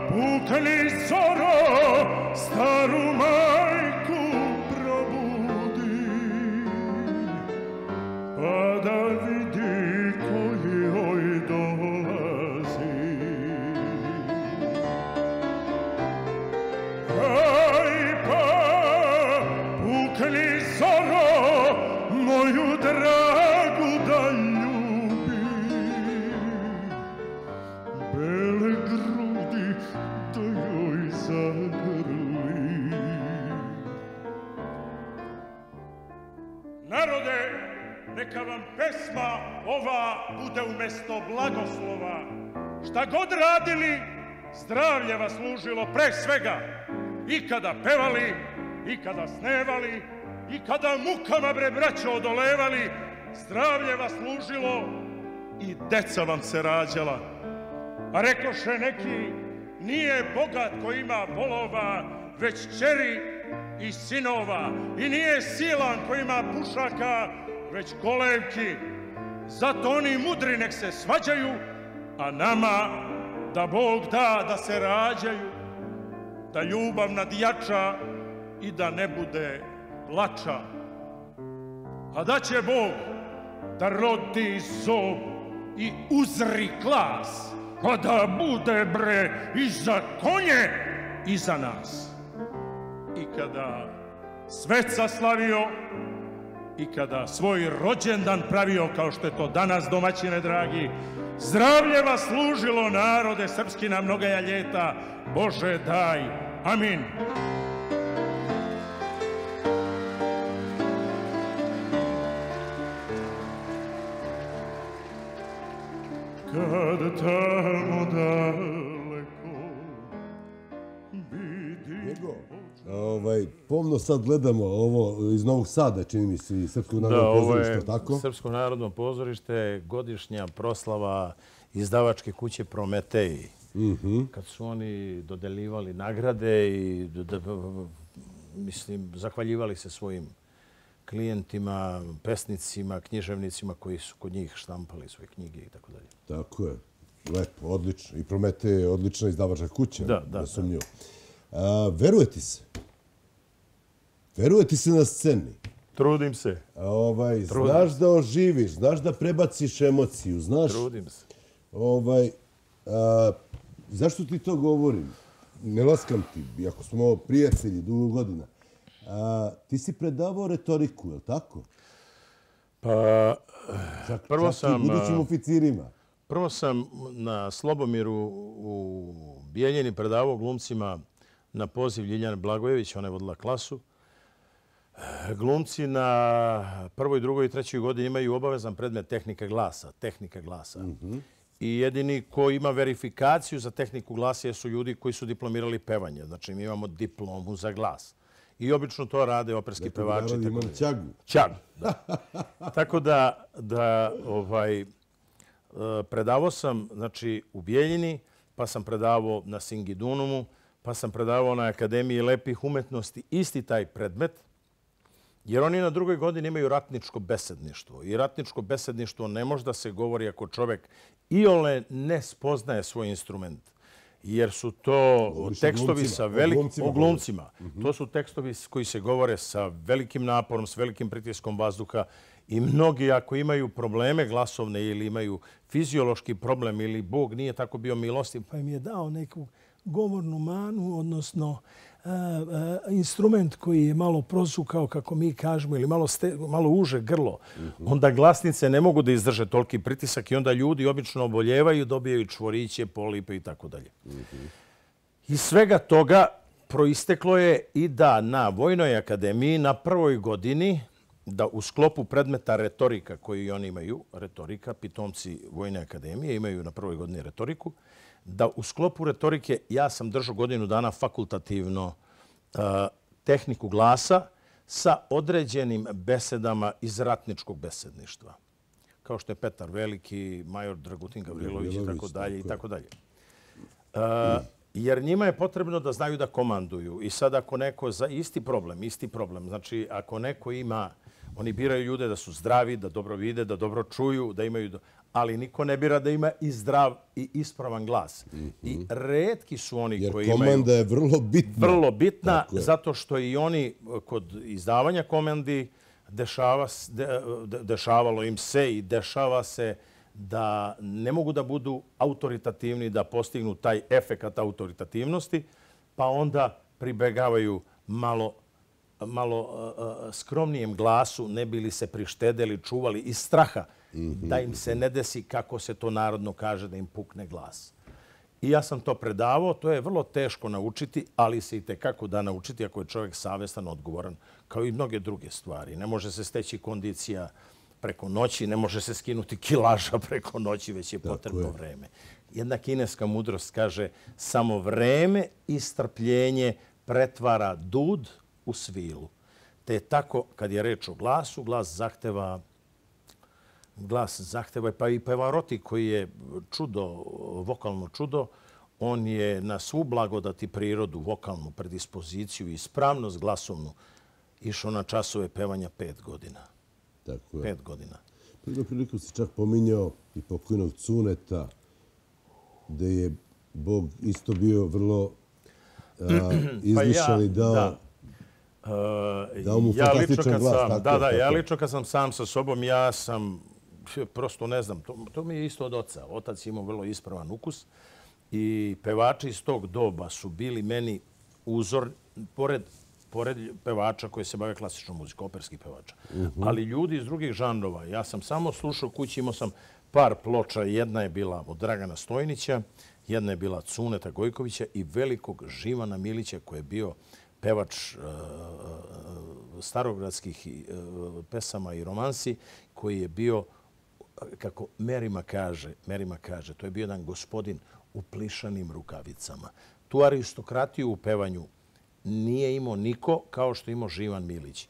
pukni zoro, staru majku probudi, pa da vidi koji joj dolazi. Aj pa, pukni zoro, moju dragu da ljubi, bele grudi da joj zagrli. Narode, neka vam pesma ova bude umesto blagoslova. Šta god radili, zdravlje vas služilo pre svega. I kada pevali, i kada snevali, i kada mukama, bre braćo, odolevali, zdravlje vas služilo i deca vam se rađala. A rekoše neki, nije bogat ko ima volova, već ćeri i sinova. I nije silan ko ima pušaka, već kolevki. Zato oni mudri nek se svađaju, a nama da Bog da da se rađaju, da ljubav nadjača i da ne bude plača. A da će Bog da rodi zob i uzri glas, a da bude, bre, i za konje i za nas. I kada sveca slavio, i kada svoj rođendan pravio, kao što je to danas, domaćine dragi, zdravlje vas služilo, narode srpski, na mnogaja ljeta. Bože daj, amin. Kad tamo daleko vidim... Njego, ovaj, pomno sad gledamo ovo iz Novog Sada, čini mi se, i Srpskog narodnog pozorišta, tako? Da, ovo je Srpsko narodno pozorište, godišnja proslava izdavačke kuće Prometej. Kad su oni dodeljivali nagrade i, mislim, zahvaljivali se svojim klijentima, pesnicima, književnicima koji su kod njih štampali svoje knjige i tako dalje. Tako je. Lepo, odlično. I Prometej je odlična izdavačka kuća. Da, da. Veruje ti se? Veruje ti se na sceni? Trudim se. Ovaj, znaš da oživiš, znaš da prebaciš emociju, znaš... Trudim se. Ovaj, a, zašto ti to govorim? Ne laskam ti, iako smo prijatelji dugo godina. A, ti si predavao retoriku, je li tako? Pa, čak, prvo čak sam... i budućim oficirima. Prvo sam na Slobomiru u Bijeljini predavao glumcima na poziv Ljiljane Blagojević, ona je vodila klasu. Glumci na prvoj, drugoj i trećoj godini imaju obavezan predmet tehnika glasa. Tehnika glasa. Mm-hmm. I jedini ko ima verifikaciju za tehniku glasa su ljudi koji su diplomirali pevanje. Znači, mi imamo diplomu za glas. I obično to rade operski pevači. Imam ćagu. Ćagu, da. Tako da, da ovaj, predavao sam znači, u Bijeljini, pa sam predavao na Singidunumu, pa sam predavao na Akademiji lepih umetnosti isti taj predmet, jer oni na drugoj godini imaju ratničko besedništvo. I ratničko besedništvo ne može da se govori ako čovjek iole ne spoznaje svoj instrument. Jer su to Govoriš tekstovi sa velikim... o glumcima. O glumcima. To su tekstovi koji se govore sa velikim naporom, s velikim pritiskom vazduha. I mnogi ako imaju probleme glasovne ili imaju fiziološki problem ili Bog nije tako bio milostiv, pa im je dao neku govornu manu, odnosno a, a, instrument koji je malo prosukao, kako mi kažemo, ili malo, ste, malo uže grlo, mm-hmm. onda glasnice ne mogu da izdrže toliki pritisak i onda ljudi obično oboljevaju, dobijaju čvoriće, polipe i tako dalje. Iz svega toga proisteklo je i da na Vojnoj akademiji na prvoj godini da u sklopu predmeta retorika koji oni imaju, retorika, pitomci Vojne akademije imaju na prvoj godini retoriku, da u sklopu retorike ja sam držao godinu dana fakultativno uh, tehniku glasa sa određenim besedama iz ratničkog besedništva. Kao što je Petar Veliki, major Dragutin Gavrilović i tako dalje i tako dalje. Uh, jer njima je potrebno da znaju da komanduju. I sad ako neko za isti problem, isti problem, znači ako neko ima, oni biraju ljude da su zdravi, da dobro vide, da dobro čuju, da imaju... Do... ali niko ne bira da ima i zdrav i ispravan glas. Mm-hmm. I retki su oni jer koji imaju... Jer komanda je vrlo bitna. Vrlo bitna, zato što i oni kod izdavanja komandi dešava, de, de, dešavalo im se i dešava se da ne mogu da budu autoritativni, da postignu taj efekat autoritativnosti, pa onda pribegavaju malo malo uh, skromnijem glasu, ne bili se prištedeli, čuvali iz straha mm-hmm. da im se ne desi, kako se to narodno kaže, da im pukne glas. I ja sam to predavao, to je vrlo teško naučiti, ali se i tekako da naučiti ako je čovjek savjestan, odgovoran, kao i mnoge druge stvari. Ne može se steći kondicija preko noći, ne može se skinuti kilaža preko noći, već je potrebno je. vreme. Jedna kineska mudrost kaže, samo vreme i strpljenje pretvara dud u svilu. Te tako, kad je reč o glasu, glas zahteva, glas zahteva pa i Pavarotti koji je čudo, vokalno čudo, on je na svu blagodati prirodu, vokalnu predispoziciju i ispravnost glasovnu išao na časove pevanja pet godina. Tako je. Pet godina. Jednom priliku si čak pominjao i pokojnog Cuneta, gde je Bog isto bio vrlo a, izmišljen i dao... Da. Uh, ja lično kad glas, sam, tako, da, da, tako. ja lično kad sam sam sa sobom, ja sam prosto ne znam, to, to mi je isto od oca. Otac imao vrlo ispravan ukus i pevači iz tog doba su bili meni uzor, pored, pored pevača koji se bave klasičnom muzikom, operskih pevača. Uh-huh. Ali ljudi iz drugih žanrova. Ja sam samo slušao kući, imao sam par ploča. Jedna je bila od Dragana Stojnića, jedna je bila Cuneta Gojkovića i velikog Živana Milića koji je bio pevač uh, starogradskih uh, pesama i romansi, koji je bio, kako Merima kaže, Merima kaže, to je bio jedan gospodin u plišanim rukavicama. Tu aristokratiju u pevanju nije imao niko kao što imao Živan Milić.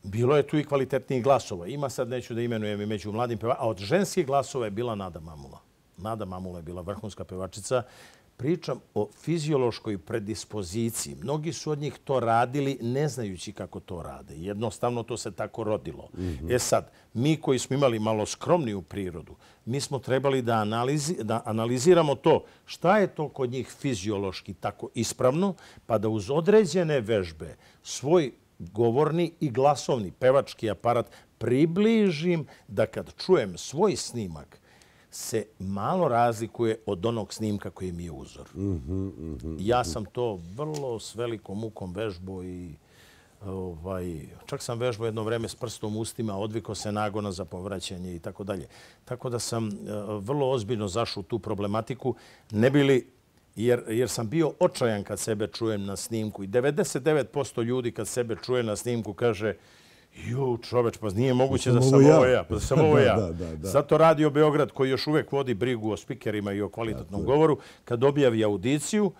Bilo je tu i kvalitetnijih glasova. Ima sad, neću da imenujem i među mladim pevačima, a od ženskih glasova je bila Nada Mamula. Nada Mamula je bila vrhunska pevačica. Pričam o fiziološkoj predispoziciji. Mnogi su od njih to radili ne znajući kako to rade. Jednostavno to se tako rodilo. Mm-hmm. E sad, mi koji smo imali malo skromniju prirodu, mi smo trebali da, analizi, da analiziramo to šta je to kod njih fiziološki tako ispravno, pa da uz određene vežbe svoj govorni i glasovni pevački aparat približim da kad čujem svoj snimak, se malo razlikuje od onog snimka koji mi je uzor. Mm-hmm, mm-hmm. Ja sam to vrlo s velikom mukom vežbao i ovaj, čak sam vežbao jedno vreme s prstom u ustima, odvikao se nagona za povraćanje i tako dalje. Tako da sam uh, vrlo ozbiljno zašao u tu problematiku, ne bili, jer, jer sam bio očajan kad sebe čujem na snimku. I devedeset devet posto ljudi kad sebe čuje na snimku kaže ju, čoveč, pa nije moguće da sam ovo ja. Pa sam ovo ja. da, da, da. Zato Radio Beograd, koji još uvek vodi brigu o spikerima i o kvalitetnom govoru, kad objavi audiciju,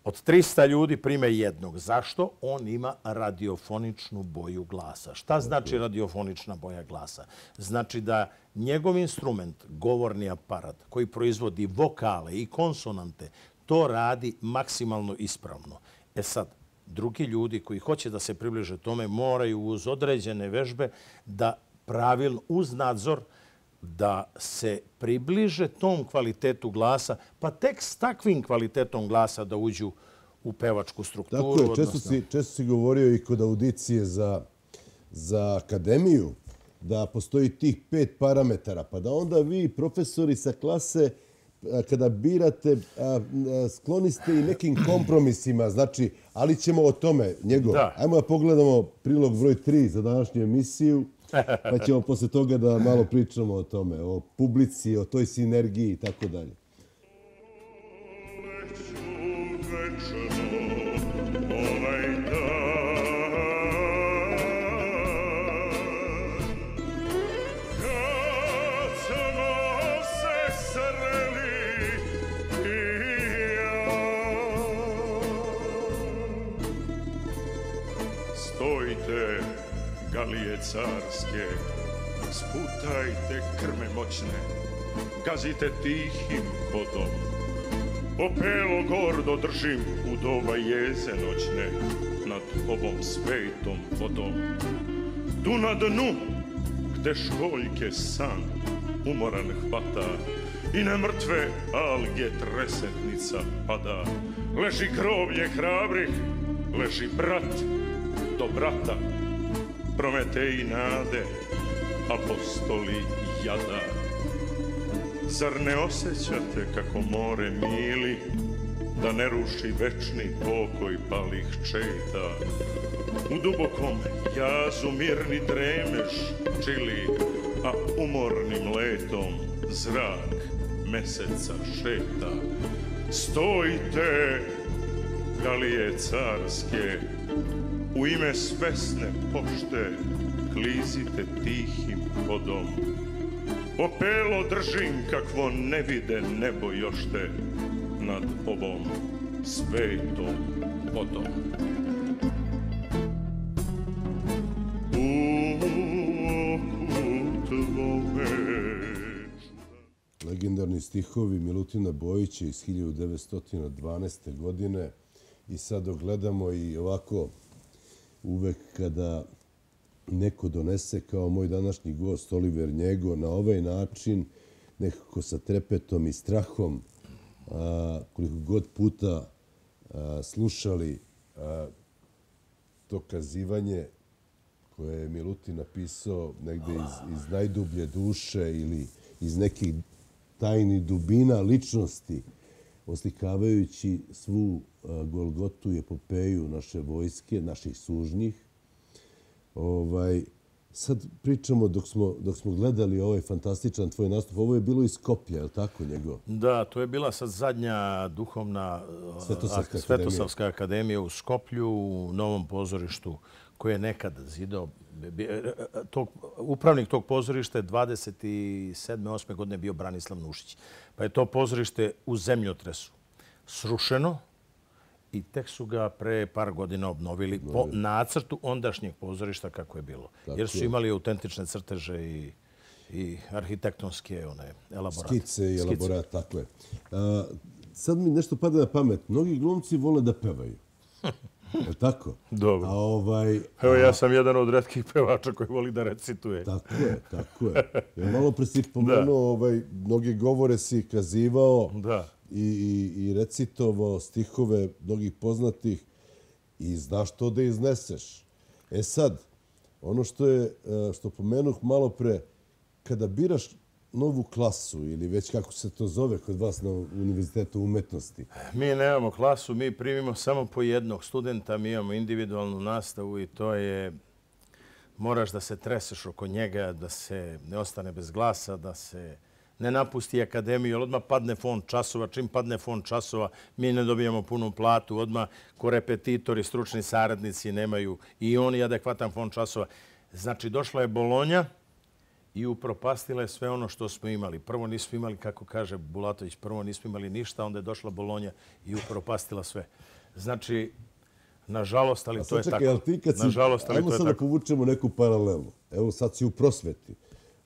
Od trista ljudi prime jednog. Zašto? On ima radiofoničnu boju glasa. Šta znači radiofonična boja glasa? Znači da njegov instrument, govorni aparat, koji proizvodi vokale i konsonante, to radi maksimalno ispravno. E sad, drugi ljudi koji hoće da se približe tome moraju uz određene vežbe da pravilno, uz nadzor, da se približe tom kvalitetu glasa, pa tek s takvim kvalitetom glasa da uđu u pevačku strukturu. Tako je, često si, često si govorio i kod audicije za, za akademiju da postoji tih pet parametara, pa da onda vi, profesori sa klase, kada birate, skloni ste i nekim kompromisima, znači, ali ćemo o tome, njegov. Da. Ajmo da pogledamo prilog broj tri za današnju emisiju, pa ćemo posle toga da malo pričamo o tome, o publici, o toj sinergiji i tako dalje. Stojite, galije carske, sputajte krme moćne, gazite tihim vodom. Opelo gordo držim u doba jeze noćne, nad ovom svetom vodom. Tu na dnu, gde školjke san umoran hvata i na mrtve alge tresetnica pada, leži groblje hrabrih, leži brat do brata, Prometej nade, apostoli jada. Zar ne osjećate kako more mili, da ne ruši večni pokoj palih četa? U dubokom jazu mirni dremeš čili, a umornim letom zrak meseca šeta. Stojite, galije carske, u ime svesne pošte klizite tihim hodom. Opelo držim kakvo ne vide nebo jošte nad ovom svetom vodom. Legendarni stihovi Milutina Bojića iz hiljadu devetsto dvanaeste. godine. I sad gledamo i ovako uvek kada neko donese kao moj današnji gost Oliver Njego na ovaj način, nekako sa trepetom i strahom, a, koliko god puta a, slušali a, to kazivanje koje je Milutin napisao negde iz, iz najdublje duše ili iz nekih tajnih dubina ličnosti, oslikavajući svu Golgotu i epopeju naše vojske, naših sužnjih. Ovaj, sad pričamo dok smo, dok smo gledali ovaj fantastičan tvoj nastup. Ovo je bilo iz Skoplja, je li tako njegov? Da, to je bila sad zadnja duhovna Svetosavska, Svetosavska akademija. akademija u Skoplju, u novom pozorištu koje je nekad zidao. Tog, upravnik tog pozorišta je dvadeset sedme osme godine bio Branislav Nušić. Pa je to pozorište u zemljotresu srušeno i tek su ga pre par godina obnovili po nacrtu ondašnjeg pozorišta kako je bilo. Jer su imali autentične crteže i, i arhitektonske one, elaborate. Skice i elaborate, tako je. A, sad mi nešto pada na pamet. Mnogi glumci vole da pevaju. Je tako? Dobro. A ovaj, Evo, ja sam jedan od retkih pevača koji voli da recituje. Tako je, tako je. Ja malo pre si pomenuo, ovaj, mnogi govore si kazivao da. i, i, i recitovao stihove mnogih poznatih i znaš to da izneseš. E sad, ono što je, što pomenuh malo pre, kada biraš novu klasu ili već kako se to zove kod vas na Univerzitetu umetnosti? Mi nemamo klasu, mi primimo samo po jednog studenta, mi imamo individualnu nastavu i to je, moraš da se treseš oko njega, da se ne ostane bez glasa, da se ne napusti akademiju, jer odmah padne fond časova. Čim padne fond časova, mi ne dobijamo punu platu, odmah ko repetitori, stručni saradnici nemaju i oni adekvatan fond časova. Znači, došla je Bolonja i upropastila je sve ono što smo imali. Prvo nismo imali, kako kaže Bulatović, prvo nismo imali ništa, onda je došla Bolonja i upropastila sve. Znači, nažalost, ali A to je sad tako. čekaj, ali ti kad si, Nažalost, ali ajmo to je sad da tako. povučemo neku paralelu. Evo sad si u prosveti.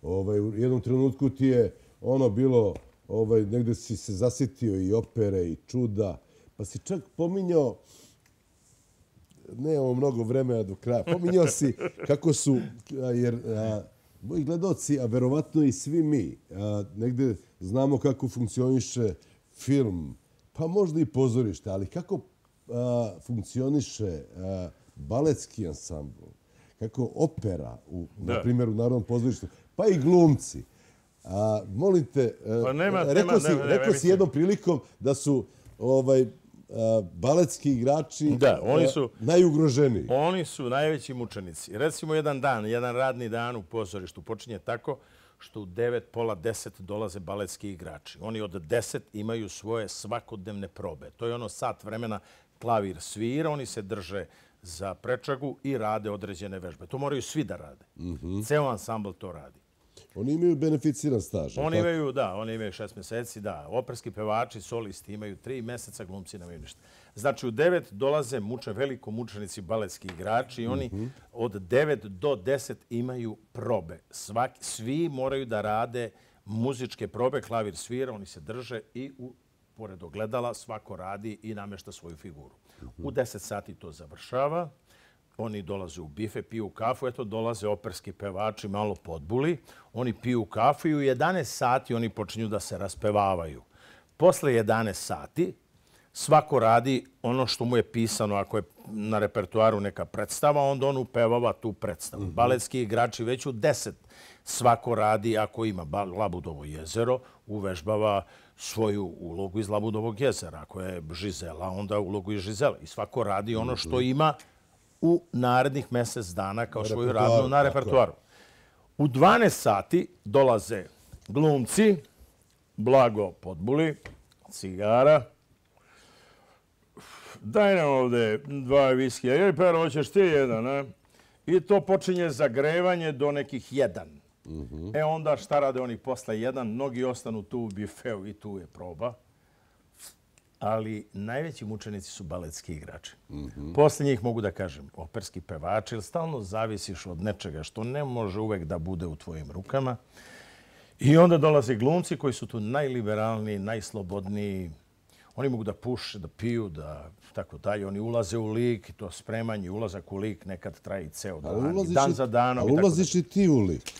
Ovaj, u jednom trenutku ti je ono bilo, ovaj, negde si se zasitio i opere i čuda, pa si čak pominjao, nemamo mnogo vremena do kraja, pominjao si kako su, a, jer a, moji gledaoci, a verovatno i svi mi, a, negde znamo kako funkcioniše film, pa možda i pozorište, ali kako a, funkcioniše a, baletski ansambl, kako opera, u, Da. na primjer u Narodnom pozorištu, pa i glumci. A, molim te, a, Pa nema- rekao, nema- si, nema- nema, rekao si mislim. jednom prilikom da su ovaj, a, baletski igrači Da, oni a, su- najugroženiji. Oni su najveći mučenici. Recimo jedan dan, jedan radni dan u pozorištu počinje tako što u devet, pola deset dolaze baletski igrači. Oni od deset imaju svoje svakodnevne probe. To je ono sat vremena klavir svira, oni se drže za prečagu i rade određene vežbe. To moraju svi da rade. Ceo ansambl to radi. Oni imaju beneficiran staž. Oni tako? imaju, da, oni imaju šest meseci, da. Operski pevači, solisti imaju tri meseca, glumci nemaju ništa. Znači, u devet dolaze muče, veliko mučenici, baletski igrači i oni od devet do deset imaju probe. Svaki, svi moraju da rade muzičke probe, klavir svira, oni se drže i u, pored ogledala svako radi i namešta svoju figuru. U deset sati to završava. Oni dolaze u bife, piju kafu, eto dolaze operski pevači, malo podbuli. Oni piju kafu i u jedanaest sati oni počinju da se raspevavaju. Posle jedanaest sati svako radi ono što mu je pisano. Ako je na repertuaru neka predstava, onda on upevava tu predstavu. Baletski igrači već u deset svako radi, ako ima ba- Labudovo jezero, uvežbava svoju ulogu iz Labudovog jezera. Ako je Žizela, onda ulogu iz Žizela. I svako radi ono što ima u narednih mjesec dana kao svoju repertoaru, radnu na tako je. repertuaru. U dvanaest sati dolaze glumci, blago podbuli, cigara. Daj nam ovde dva viskija. Ili Pero, hoćeš ti jedan, a? I to počinje zagrevanje do nekih jedan. E onda šta rade oni posle jedan? Mnogi ostanu tu u bifeu i tu je proba. Ali najveći mučenici su baletski igrači. Posle njih mogu da kažem operski pevači, jer stalno zavisiš od nečega što ne može uvek da bude u tvojim rukama. I onda dolaze glumci koji su tu najliberalniji, najslobodniji. Oni mogu da puše, da piju, da tako dalje. Oni ulaze u lik, i to spremanje, ulazak u lik nekad traje i ceo dan, i ulaziš dan i- za danom. ali i tako ulaziš i ti u lik.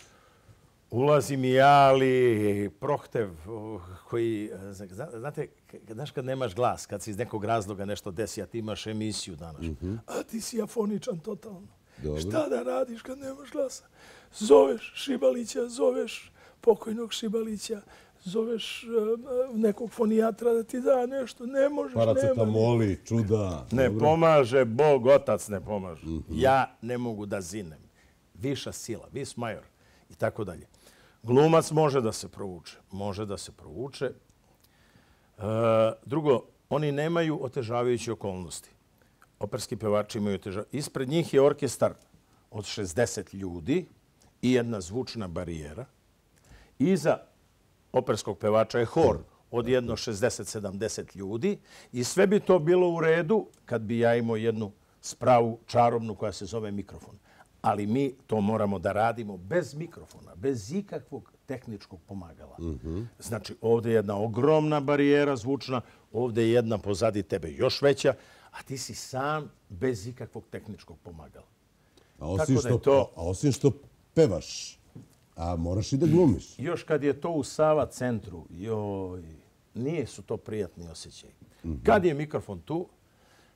Ulazim i ja, ali Prohtev, uh, koji, zna- znate, k- znaš kad nemaš glas, kad se iz nekog razloga nešto desi, a ti imaš emisiju danas, a ti si afoničan totalno. Dobro. Šta da radiš kad nemaš glasa? Zoveš Šibalića, zoveš pokojnog Šibalića, zoveš uh, nekog fonijatra da ti da nešto, ne možeš, nema. Paracetamoli, čuda. Ne dobro. pomaže, Bog, Otac ne pomaže. Ja ne mogu da zinem. Viša sila, vis major i tako dalje. Glumac može da se provuče. Može da se provuče. E, drugo, oni nemaju otežavajuće okolnosti. Operski pevači imaju otežavajuće. Ispred njih je orkestar od šezdeset ljudi i jedna zvučna barijera. Iza operskog pevača je hor od jedno šezdeset sedamdeset ljudi i sve bi to bilo u redu kad bi ja imao jednu spravu čarobnu koja se zove mikrofon. Ali mi to moramo da radimo bez mikrofona, bez ikakvog tehničkog pomagala. Znači, ovdje je jedna ogromna barijera zvučna, ovdje je jedna pozadi tebe još veća, a ti si sam bez ikakvog tehničkog pomagala. A osim, Tako da je što, to- a osim što pevaš, a moraš i da glumiš. Još kad je to u Sava centru, joj, nije su to prijatni osjećaj. Kad je mikrofon tu,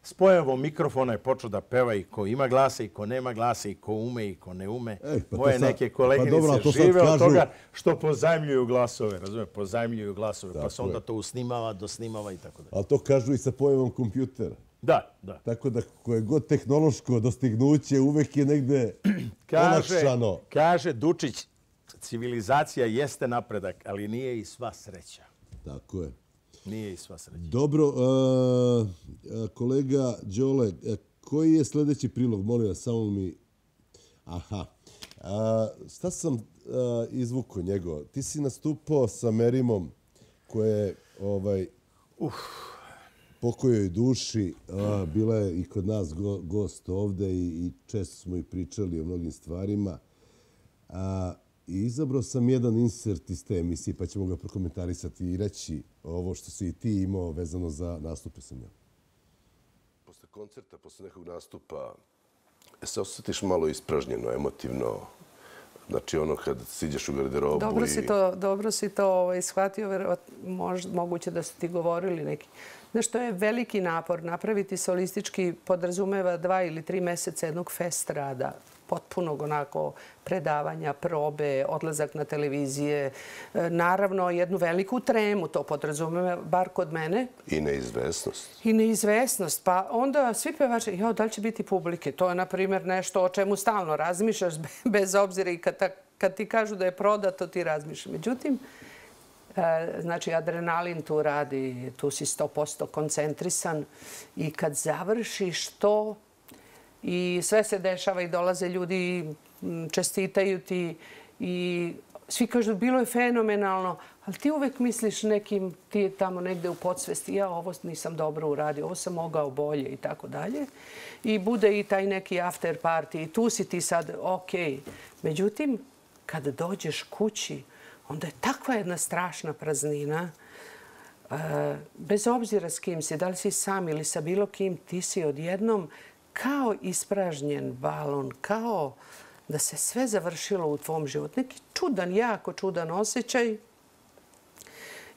s pojavom mikrofona je počeo da peva i ko ima glasa i ko nema glasa i ko ume i ko ne ume. Ej, pa to Moje sad- neke pa koleginice dobro, a to sad žive od kažu- toga što pozajmljuju glasove, razumije, pozajmljuju glasove, pa Tako se onda je. to usnimava, dosnimava i tako dalje. Ali to kažu i sa pojavom kompjutera. Da, da. Tako da koje god tehnološko dostignuće uvek je negde Kaže, olakšano. kaže Dučić, civilizacija jeste napredak, ali nije i sva sreća. Tako je. Nije i sva sreća. Dobro, a, a, kolega Đole, a, koji je sljedeći prilog? Molim vas, samo mi... Aha. A, šta sam a, izvukao njegov? Ti si nastupao sa Merimom koje je ovaj, pokojoj duši. Bila je i kod nas gost ovde i često smo i pričali o mnogim stvarima. I izabrao sam jedan insert iz te emisije, pa ćemo ga prokomentarisati i reći ovo što si i ti imao vezano za nastupe sa njom. Posle koncerta, posle nekog nastupa, se osjetiš malo ispražnjeno, emotivno? Znači ono kad siđeš u garderobu dobro i... Si to, dobro si to shvatio, moguće da su ti govorili neki. Znaš, to je veliki napor. Napraviti solistički podrazumeva dva ili tri meseca jednog fest rada. Potpunog onako predavanja, probe, odlazak na televizije. Naravno, jednu veliku tremu to podrazumeva, bar kod mene. I neizvesnost. I neizvesnost. Pa onda svi pevači, jo, da li će biti publike? To je, na primjer, nešto o čemu stalno razmišljaš, bez obzira i kad, ta, kad ti kažu da je prodato, ti razmišljaš. Međutim, znači, adrenalin tu radi, tu si sto posto koncentrisan i kad završiš to i sve se dešava i dolaze ljudi, čestitaju ti i svi kažu bilo je fenomenalno, ali ti uvek misliš nekim, ti je tamo negde u podsvesti, ja ovo nisam dobro uradio, ovo sam mogao bolje i tako dalje. I bude i taj neki after party i tu si ti sad ok. Međutim, kad dođeš kući, onda je takva jedna strašna praznina. Bez obzira s kim si, da li si sam ili sa bilo kim, ti si odjednom kao ispražnjen balon, kao da se sve završilo u tvom životu. Neki čudan, jako čudan osjećaj.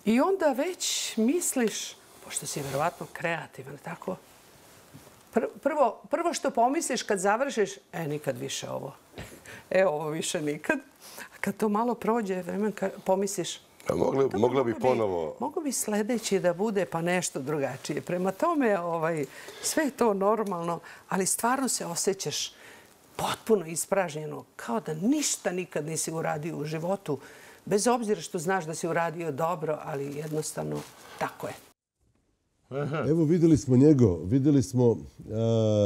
I onda već misliš, pošto si verovatno kreativan, tako? Prvo, prvo što pomisliš kad završiš, e, nikad više ovo. E, ovo više nikad. A kad to malo prođe, vremen pomisliš, A mogla, mogla bi ponovo... Mogu bi sledeći da bude pa nešto drugačije. Prema tome, ovaj, sve je to normalno, ali stvarno se osjećaš potpuno ispražnjeno, kao da ništa nikad nisi uradio u životu, bez obzira što znaš da si uradio dobro, ali jednostavno tako je. Evo, videli smo njego, videli smo uh,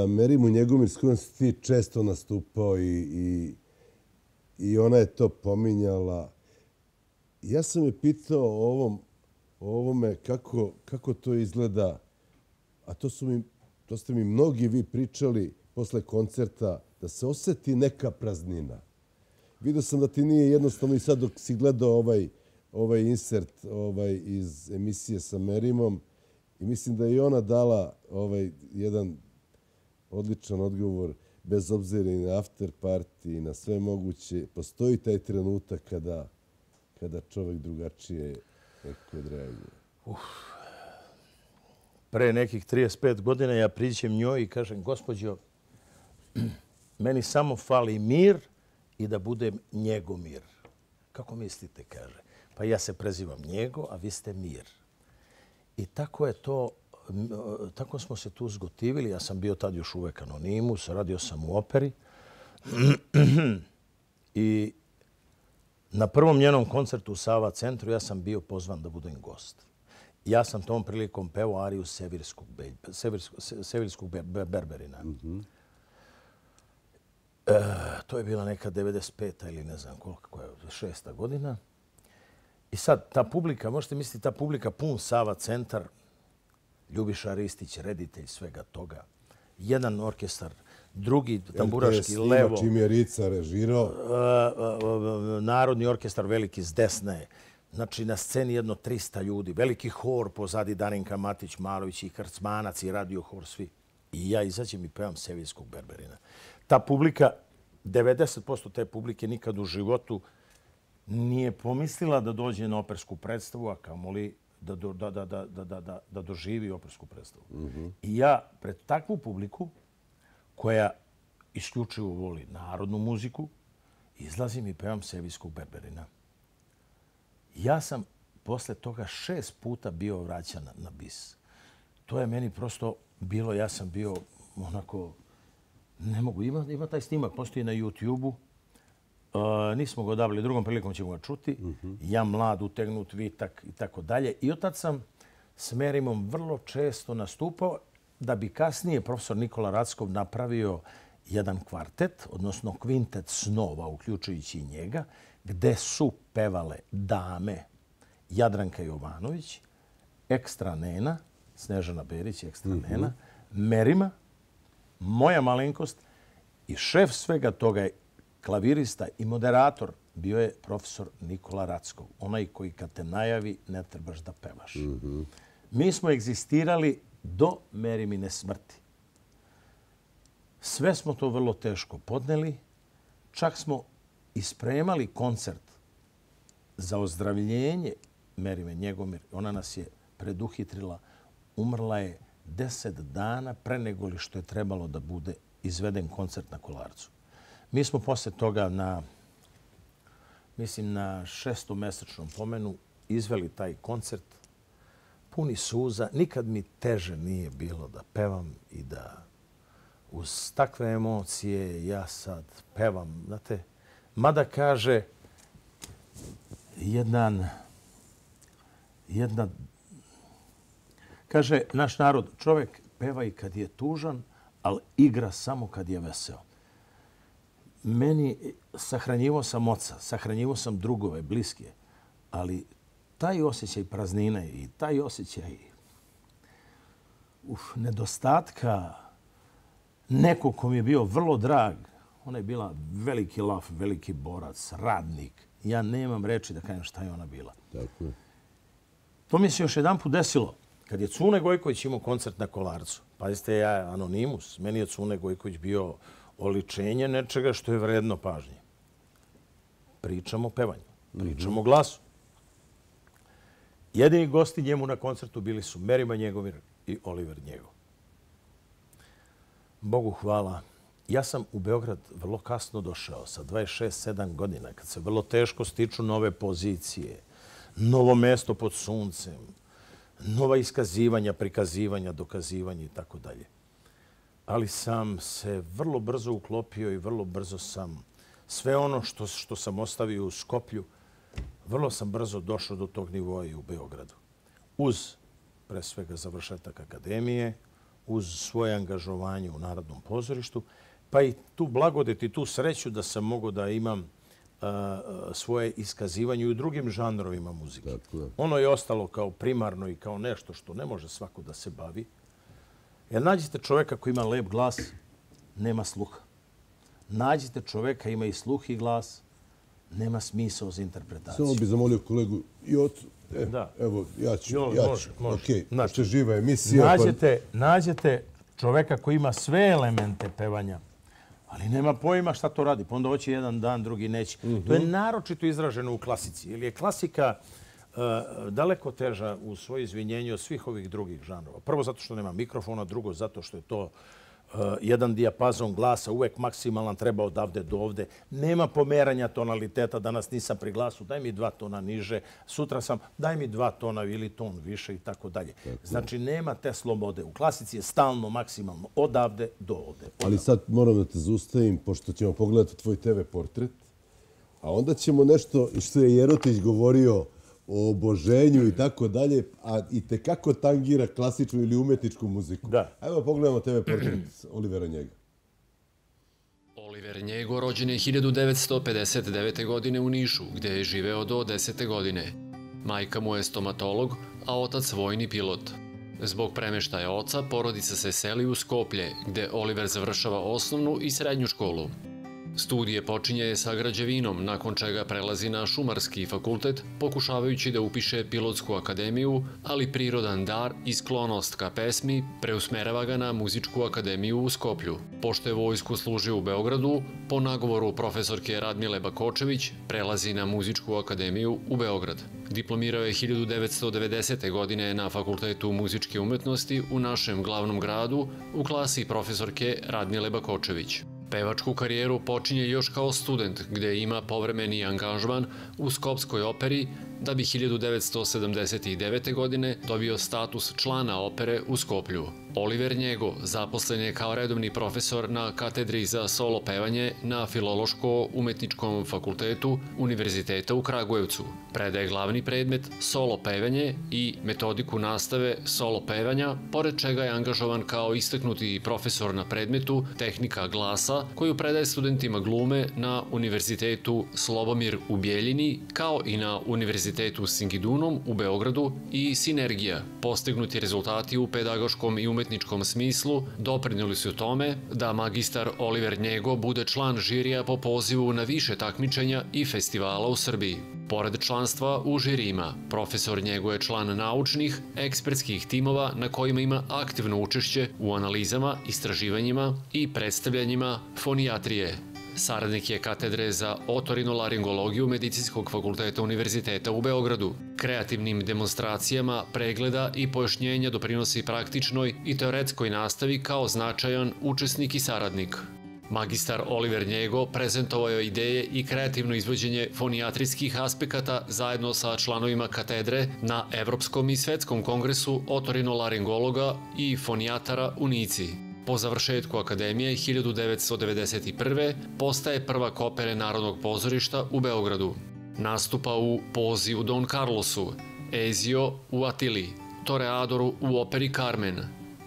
Merimu Njegomir s kojom si ti često nastupao i, i, i ona je to pominjala. Ja sam je pitao o, ovom, o ovome kako, kako to izgleda, a to, su mi, to ste mi mnogi vi pričali posle koncerta, da se oseti neka praznina. Vidio sam da ti nije jednostavno i sad dok si gledao ovaj, ovaj insert ovaj, iz emisije sa Merimom i mislim da je i ona dala ovaj, jedan odličan odgovor bez obzira i na after party i na sve moguće. Postoji taj trenutak kada kada čovjek drugačije nekako odreaguje. Uf. Pre nekih trideset pet godina ja priđem njoj i kažem, gospođo, meni samo fali mir i da budem Njegomir. Kako mislite, kaže. Pa ja se prezivam Njego, a vi ste Mir. I tako je to, tako smo se tu zgotivili. Ja sam bio tad još uvek anonimus, radio sam u operi. I na prvom njenom koncertu u Sava centru ja sam bio pozvan da budem gost. Ja sam tom prilikom pevao ariju Sevirskog, Sevirskog, Sevirskog Berberina. Mm-hmm. e, to je bila neka devedeset peta ili ne znam koliko je, šesta godina. I sad ta publika, možete misliti, ta publika pun Sava centar, Ljubiša Ristić, reditelj svega toga. Jedan orkestar, drugi tamburaški levo. Čim je Rica režirao. Narodni orkestar veliki s desne. Znači na sceni jedno trista ljudi. Veliki hor pozadi Darinka Matić-Malović i Krcmanac i radio hor svi. I ja izađem i pevam Sevirskog Berberina. Ta publika, devedeset posto te publike nikad u životu nije pomislila da dođe na opersku predstavu, a kamoli da, da, da, da, da, da, da doživi opersku predstavu. Mm-hmm. I ja pred takvu publiku koja isključivo voli narodnu muziku, izlazim i pevam Sevirskog Berberina. Ja sam posle toga šest puta bio vraćan na bis. To je meni prosto bilo, ja sam bio onako, ne mogu, ima, ima taj snimak, postoji na YouTube-u. Uh, nismo ga odavili, drugom prilikom ćemo ga čuti. Mm-hmm. Ja mlad, utegnut, vitak i tako dalje. I otad sam s Merimom vrlo često nastupao da bi kasnije profesor Nikola Rackov napravio jedan kvartet, odnosno kvintet snova, uključujući i njega, gde su pevale dame Jadranka Jovanović, Ekstra Nena, Snežana Berić, ekstra nena, Merima, moja malenkost i šef svega toga je klavirista i moderator bio je profesor Nikola Rackov, onaj koji kad te najavi ne trebaš da pevaš. Mi smo egzistirali do Merimine smrti. Sve smo to vrlo teško podneli, čak smo ispremali koncert za ozdravljenje Merime Njegomir. Ona nas je preduhitrila. Umrla je deset dana pre nego li što je trebalo da bude izveden koncert na Kolarcu. Mi smo posle toga na, mislim, na šestomesečnom pomenu izveli taj koncert puni suza. Nikad mi teže nije bilo da pevam i da uz takve emocije ja sad pevam. Znate, mada kaže jedan, jedna, kaže naš narod, čovjek peva i kad je tužan, ali igra samo kad je veseo. Meni, sahranjivo sam oca, sahranjivo sam drugove, bliske, ali taj osjećaj praznine i taj osjećaj uf, nedostatka nekog ko mi je bio vrlo drag, ona je bila veliki laf, veliki borac, radnik. Ja nemam reči da kažem šta je ona bila. Tako je. To mi se još jedan put desilo. Kad je Cune Gojković imao koncert na Kolarcu, pazite, ja je anonimus, meni je Cune Gojković bio oličenje nečega što je vredno pažnje. Pričamo o pevanju, pričamo o glasu. Jedini gosti njemu na koncertu bili su Merima Njegomir i Oliver Njego. Bogu hvala. Ja sam u Beograd vrlo kasno došao, sa dvadeset šest sedam godina, kad se vrlo teško stiču nove pozicije, novo mesto pod suncem, nova iskazivanja, prikazivanja, dokazivanja i tako dalje. Ali sam se vrlo brzo uklopio i vrlo brzo sam sve ono što, što sam ostavio u Skoplju, vrlo sam brzo došao do tog nivoa i u Beogradu. Uz, pre svega, završetak akademije, uz svoje angažovanje u Narodnom pozorištu, pa i tu blagodet i tu sreću da sam mogao da imam uh, svoje iskazivanje i u drugim žanrovima muzike. Dakle. Ono je ostalo kao primarno i kao nešto što ne može svako da se bavi. Jer nađite čovjeka koji ima lep glas, nema sluha. Nađite čovjeka ima i sluh i glas, nema smisao za interpretaciju. Samo bih zamolio kolegu Jocu. E, Da. Evo, ja ću. Jo, ja ću. može, može. Okej, Znači, pošto je živa emisija. Nađete, nađete čovjeka koji ima sve elemente pevanja, ali nema pojma šta to radi. Pa onda hoće jedan dan, drugi neće. To je naročito izraženo u klasici. Jer je klasika uh, daleko teža u svoje izvinjenje od svih ovih drugih žanrova. Prvo zato što nema mikrofona, drugo zato što je to uh, jedan dijapazon glasa uvek maksimalan, treba odavde do ovde. Nema pomeranja tonaliteta. Danas nisam pri glasu, daj mi dva tona niže. Sutra sam, daj mi dva tona ili ton više i tako dalje. Znači, nema te slobode. U klasici je stalno, maksimalno, odavde do ovde. Ali sad moram da te zaustavim, pošto ćemo pogledati tvoj te ve portret, a onda ćemo nešto što je Jerotić govorio o oboženju i tako dalje, a i tekako tangira klasičnu ili umetničku muziku. Da. Ajmo pogledamo te ve portret Olivera Njega. Oliver Njego rođen je hiljadu devetsto pedeset devete. godine u Nišu, gde je živeo do desete godine. Majka mu je stomatolog, a otac vojni pilot. Zbog premeštaja oca, porodica se seli u Skoplje, gde Oliver završava osnovnu i srednju školu. Studije počinje sa građevinom, nakon čega prelazi na šumarski fakultet, pokušavajući da upiše pilotsku akademiju, ali prirodan dar i sklonost ka pesmi preusmerava ga na muzičku akademiju u Skoplju. Pošto je vojsku služio u Beogradu, po nagovoru profesorke Radmile Bakočević prelazi na muzičku akademiju u Beograd. Diplomirao je hiljadu devetsto devedesete. godine na Fakultetu muzičke umetnosti u našem glavnom gradu u klasi profesorke Radmile Bakočević. Pevačku karijeru počinje još kao student, gde ima povremeni angažman u Skopskoj operi, da bi hiljadu devetsto sedamdeset devete. godine dobio status člana opere u Skoplju. Oliver Njego zaposlen je kao redovni profesor na katedri za solo pevanje na Filološko-umetničkom fakultetu Univerziteta u Kragujevcu. Predaje glavni predmet solo pevanje i metodiku nastave solo pevanja, pored čega je angažovan kao istaknuti profesor na predmetu tehnika glasa, koju predaje studentima glume na Univerzitetu Slobomir u Bijeljini, kao i na Univerzitetu Univerzitetu Singidunum u Beogradu i Sinergija. Postignuti rezultati u pedagoškom i umetničkom smislu doprinijeli su tome da magistar Oliver Njego bude član žirija po pozivu na više takmičenja i festivala u Srbiji. Pored članstva u žirijima, profesor Njego je član naučnih, ekspertskih timova na kojima ima aktivno učešće u analizama, istraživanjima i predstavljanjima fonijatrije. Saradnik je katedre za otorinolaringologiju Medicinskog fakulteta Univerziteta u Beogradu. Kreativnim demonstracijama, pregleda i pojašnjenja doprinosi praktičnoj i teoretskoj nastavi kao značajan učesnik i saradnik. Magistar Oliver Njego prezentovao je ideje i kreativno izvođenje fonijatrijskih aspekata zajedno sa članovima katedre na Evropskom i Svetskom kongresu otorinolaringologa i fonijatara u Nici. Po završetku akademije hiljadu devetsto devedeset prve. postaje prvak opere Narodnog pozorišta u Beogradu. Nastupa u Pozi u Don Carlosu, Ezio u Atili, Toreadoru u operi Carmen,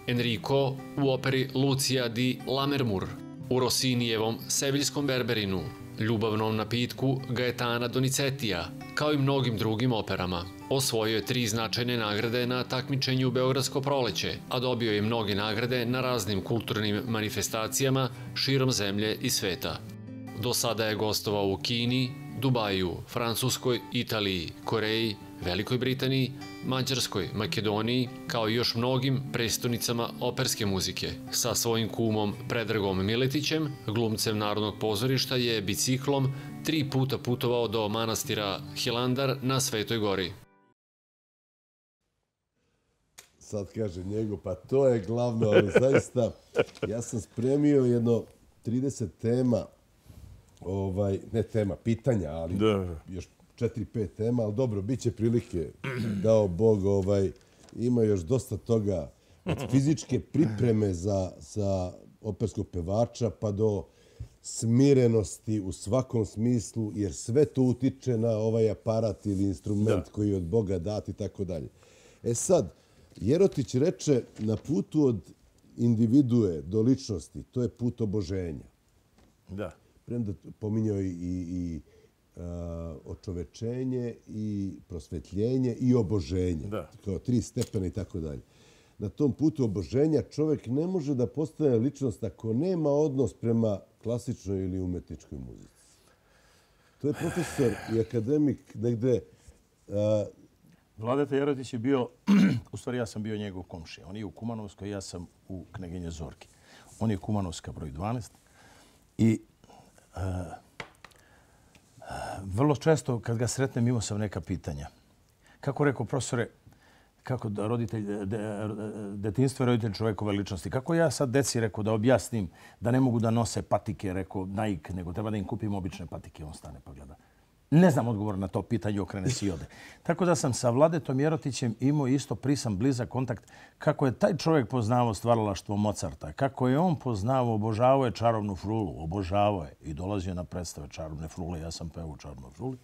Enrico u operi Lucia di Lammermoor, u Rossinijevom Seviljskom Berberinu, Ljubavnom napitku Gaetana Donizetija, kao i mnogim drugim operama. Osvojio je tri značajne nagrade na takmičenju Beogradsko proleće, a dobio je mnoge nagrade na raznim kulturnim manifestacijama širom zemlje i sveta. Do sada je gostovao u Kini, Dubaju, Francuskoj, Italiji, Koreji, Velikoj Britaniji, Mađarskoj, Makedoniji, kao i još mnogim prestonicama operske muzike. Sa svojim kumom Predragom Miletićem, glumcem Narodnog pozorišta, je biciklom tri puta putovao do manastira Hilandar na Svetoj gori. Sad kaže Njego, pa to je glavno, ali zaista ja sam spremio jedno trideset tema, ovaj, ne tema, pitanja, ali Da. još četiri pet tema, ali dobro, bit će prilike, dao Bog, ovaj, ima još dosta toga, od fizičke pripreme za, za operskog pevača pa do smirenosti u svakom smislu, jer sve to utiče na ovaj aparat ili instrument Da. koji je od Boga dat i tako dalje. E sad, Jerotić reče, na putu od individue do ličnosti, to je put oboženja. Da. Premda pominjao i, i, i a, očovečenje i prosvetljenje i oboženje. Da. Kao tri stepena i tako dalje. Na tom putu oboženja čovjek ne može da postane ličnost ako nema odnos prema klasičnoj ili umetničkoj muzici. To je profesor i akademik negde... A, Vladeta Jerotić je bio, u stvari ja sam bio njegov komšija. On je u Kumanovskoj, ja sam u Kneginje Zorki. On je Kumanovska broj dvanaest i uh, vrlo često kad ga sretnem imao sam neka pitanja. Kako rekao profesore, kako da roditelj, de, detinjstvo je roditelj čovjekove ličnosti. Kako ja sad deci rekao da objasnim da ne mogu da nose patike, rekao Nike, nego treba da im kupim obične patike. On stane pa gleda. Ne znam odgovor na to pitanje, okrene si i ode. Tako da sam sa Vladetom Jerotićem imao isto prisan, blizak kontakt. Kako je taj čovjek poznavao stvaralaštvo Mozarta, kako je on poznavao, obožavao je Čarobnu frulu, obožavao je i dolazio na predstave Čarobne frule, ja sam pevao Čarobnu fruli.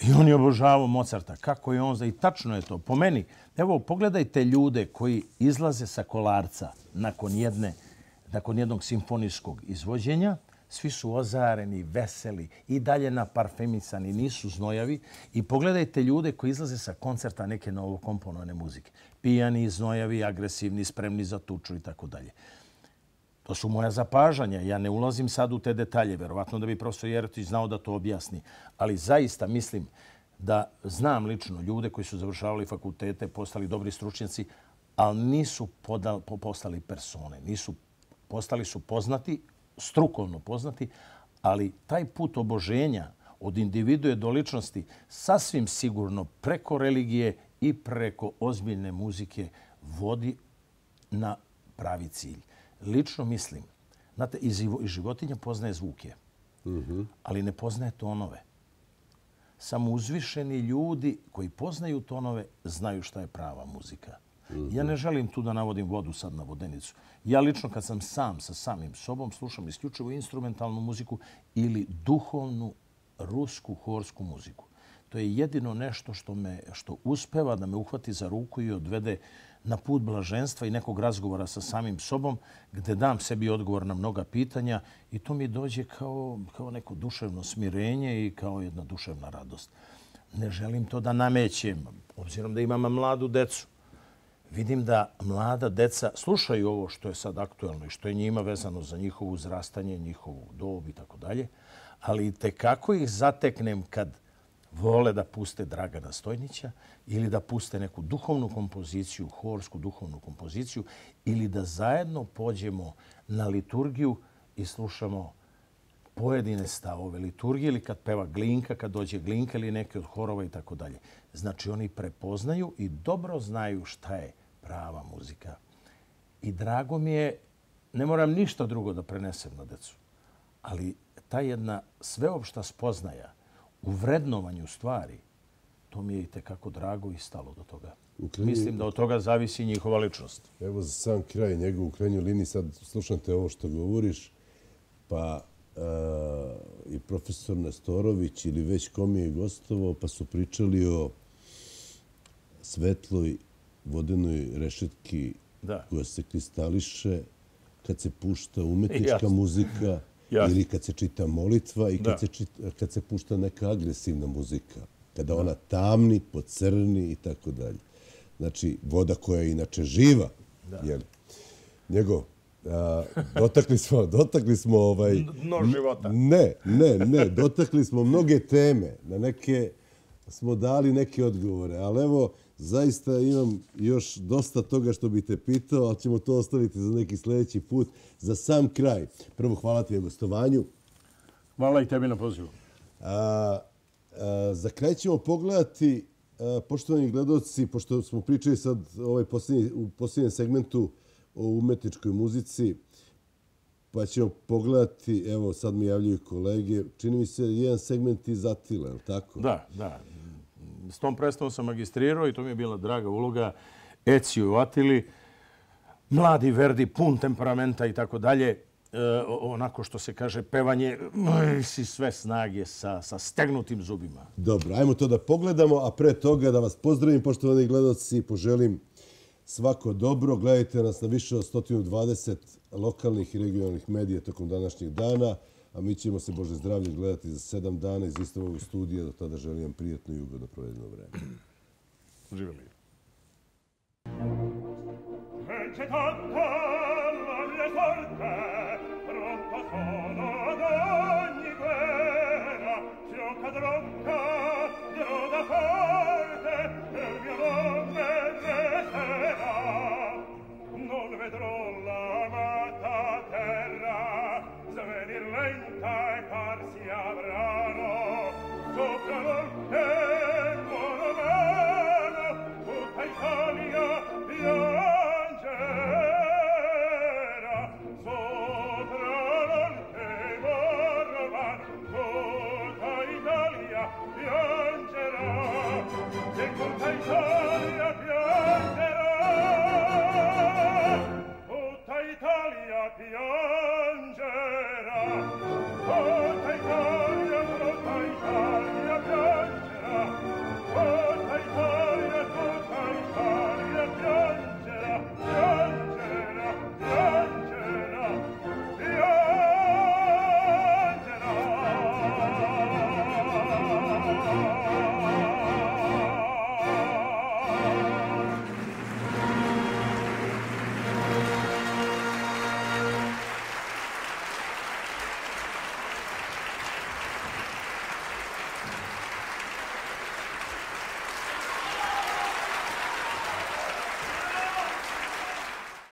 I on je obožavao Mozarta. Kako je on za... I tačno je to. Po meni, evo, pogledajte ljude koji izlaze sa Kolarca nakon, jedne, nakon jednog simfonijskog izvođenja. Svi su ozareni, veseli i dalje naparfemisani, nisu znojavi. I pogledajte ljude koji izlaze sa koncerta neke novokomponovane muzike. Pijani, znojavi, agresivni, spremni za tuču i tako dalje. To su moja zapažanja. Ja ne ulazim sad u te detalje. Verovatno da bi profesor Jerotić znao da to objasni. Ali zaista mislim da znam lično ljude koji su završavali fakultete, postali dobri stručnjaci, ali nisu podal, postali persone. Nisu, postali su poznati, strukovno poznati, ali taj put oboženja od individue do ličnosti sasvim sigurno preko religije i preko ozbiljne muzike vodi na pravi cilj. Lično mislim, znate, i životinja poznaje zvuke, mm-hmm. ali ne poznaje tonove. Samo uzvišeni ljudi koji poznaju tonove znaju šta je prava muzika. Mm-hmm. Ja ne želim tu da navodim vodu sad na vodenicu. Ja lično kad sam sam sa samim sobom slušam isključivo instrumentalnu muziku ili duhovnu rusku horsku muziku. To je jedino nešto što me što uspeva da me uhvati za ruku i odvede na put blaženstva i nekog razgovora sa samim sobom gde dam sebi odgovor na mnoga pitanja i to mi dođe kao, kao neko duševno smirenje i kao jedna duševna radost. ne želim to da namećem, obzirom da imam mladu decu. Vidim da mlada deca slušaju ovo što je sad aktuelno i što je njima vezano za njihovo uzrastanje, njihovu dob i tako dalje, ali tekako ih zateknem kad vole da puste Dragana Stojnića ili da puste neku duhovnu kompoziciju, horsku duhovnu kompoziciju, ili da zajedno pođemo na liturgiju i slušamo pojedine stavove liturgije, ili kad peva Glinka, kad dođe Glinka ili neke od horova i tako dalje. Znači, oni prepoznaju i dobro znaju šta je prava muzika. I drago mi je, ne moram ništa drugo da prenesem na decu, ali ta jedna sveopšta spoznaja u vrednovanju stvari, to mi je i tekako drago i stalo do toga. Krajnji... Mislim da od toga zavisi njihova ličnost. Evo za sam kraj njegov u krajnjoj liniji, sad slušam te ovo što govoriš, pa uh, i profesor Nestorović ili već kom je gostovao, pa su pričali o svetloj vodenoj rešetki da. koja se kristališe kad se pušta umetnička Jasne. muzika Jasne. ili kad se čita molitva i kad se, čita, kad se pušta neka agresivna muzika. Kada da. ona tamni, pocrni i tako dalje. Znači, voda koja je inače živa. Jel? Njegov, a, dotakli smo, dotakli smo ovaj... Dno života. Ne, ne, ne. Dotakli smo mnoge teme. Na neke smo dali neke odgovore. Ali evo, zaista imam još dosta toga što bih te pitao, ali ćemo to ostaviti za neki sljedeći put. Za sam kraj. Prvo, hvala ti na gostovanju. Hvala i tebi na pozivu. A, a, za kraj ćemo pogledati, a, poštovani gledalci, pošto smo pričali sad ovaj posljednji, u posljednjem segmentu o umetničkoj muzici, pa ćemo pogledati, evo sad mi javljaju kolege, čini mi se jedan segment iz Atile, je li tako? Da, da. S tom predstavom sam magistrirao i to mi je bila draga uloga. Ezio u Atili, mladi Verdi, pun temperamenta i tako dalje. Onako što se kaže, pevanje si sve snage sa, sa stegnutim zubima. Dobro, ajmo to da pogledamo, a pre toga da vas pozdravim, poštovani gledalci, i poželim svako dobro. Gledajte nas na više od sto dvadeset lokalnih i regionalnih medija tokom današnjeg dana, a mi ćemo se, Bože zdravlje, gledati za sedam dana iz istog ovog studija. Do tada želim vam prijatno i ugodno provedeno vreme. Živjeli. Vence tanta la mia sorte, pronto sono ad ogni guerra, se ho cadronca, dirò da forte, e il mio nome resterà. Non vedrò l'amata terra, svenir lenta e farsi avrano, sopra l'orte buona mano, tutta Italia piangerà, sopra l'orte buona mano, tutta Italia piangerà, e tutta Italia piangerà, tutta Italia piangerà.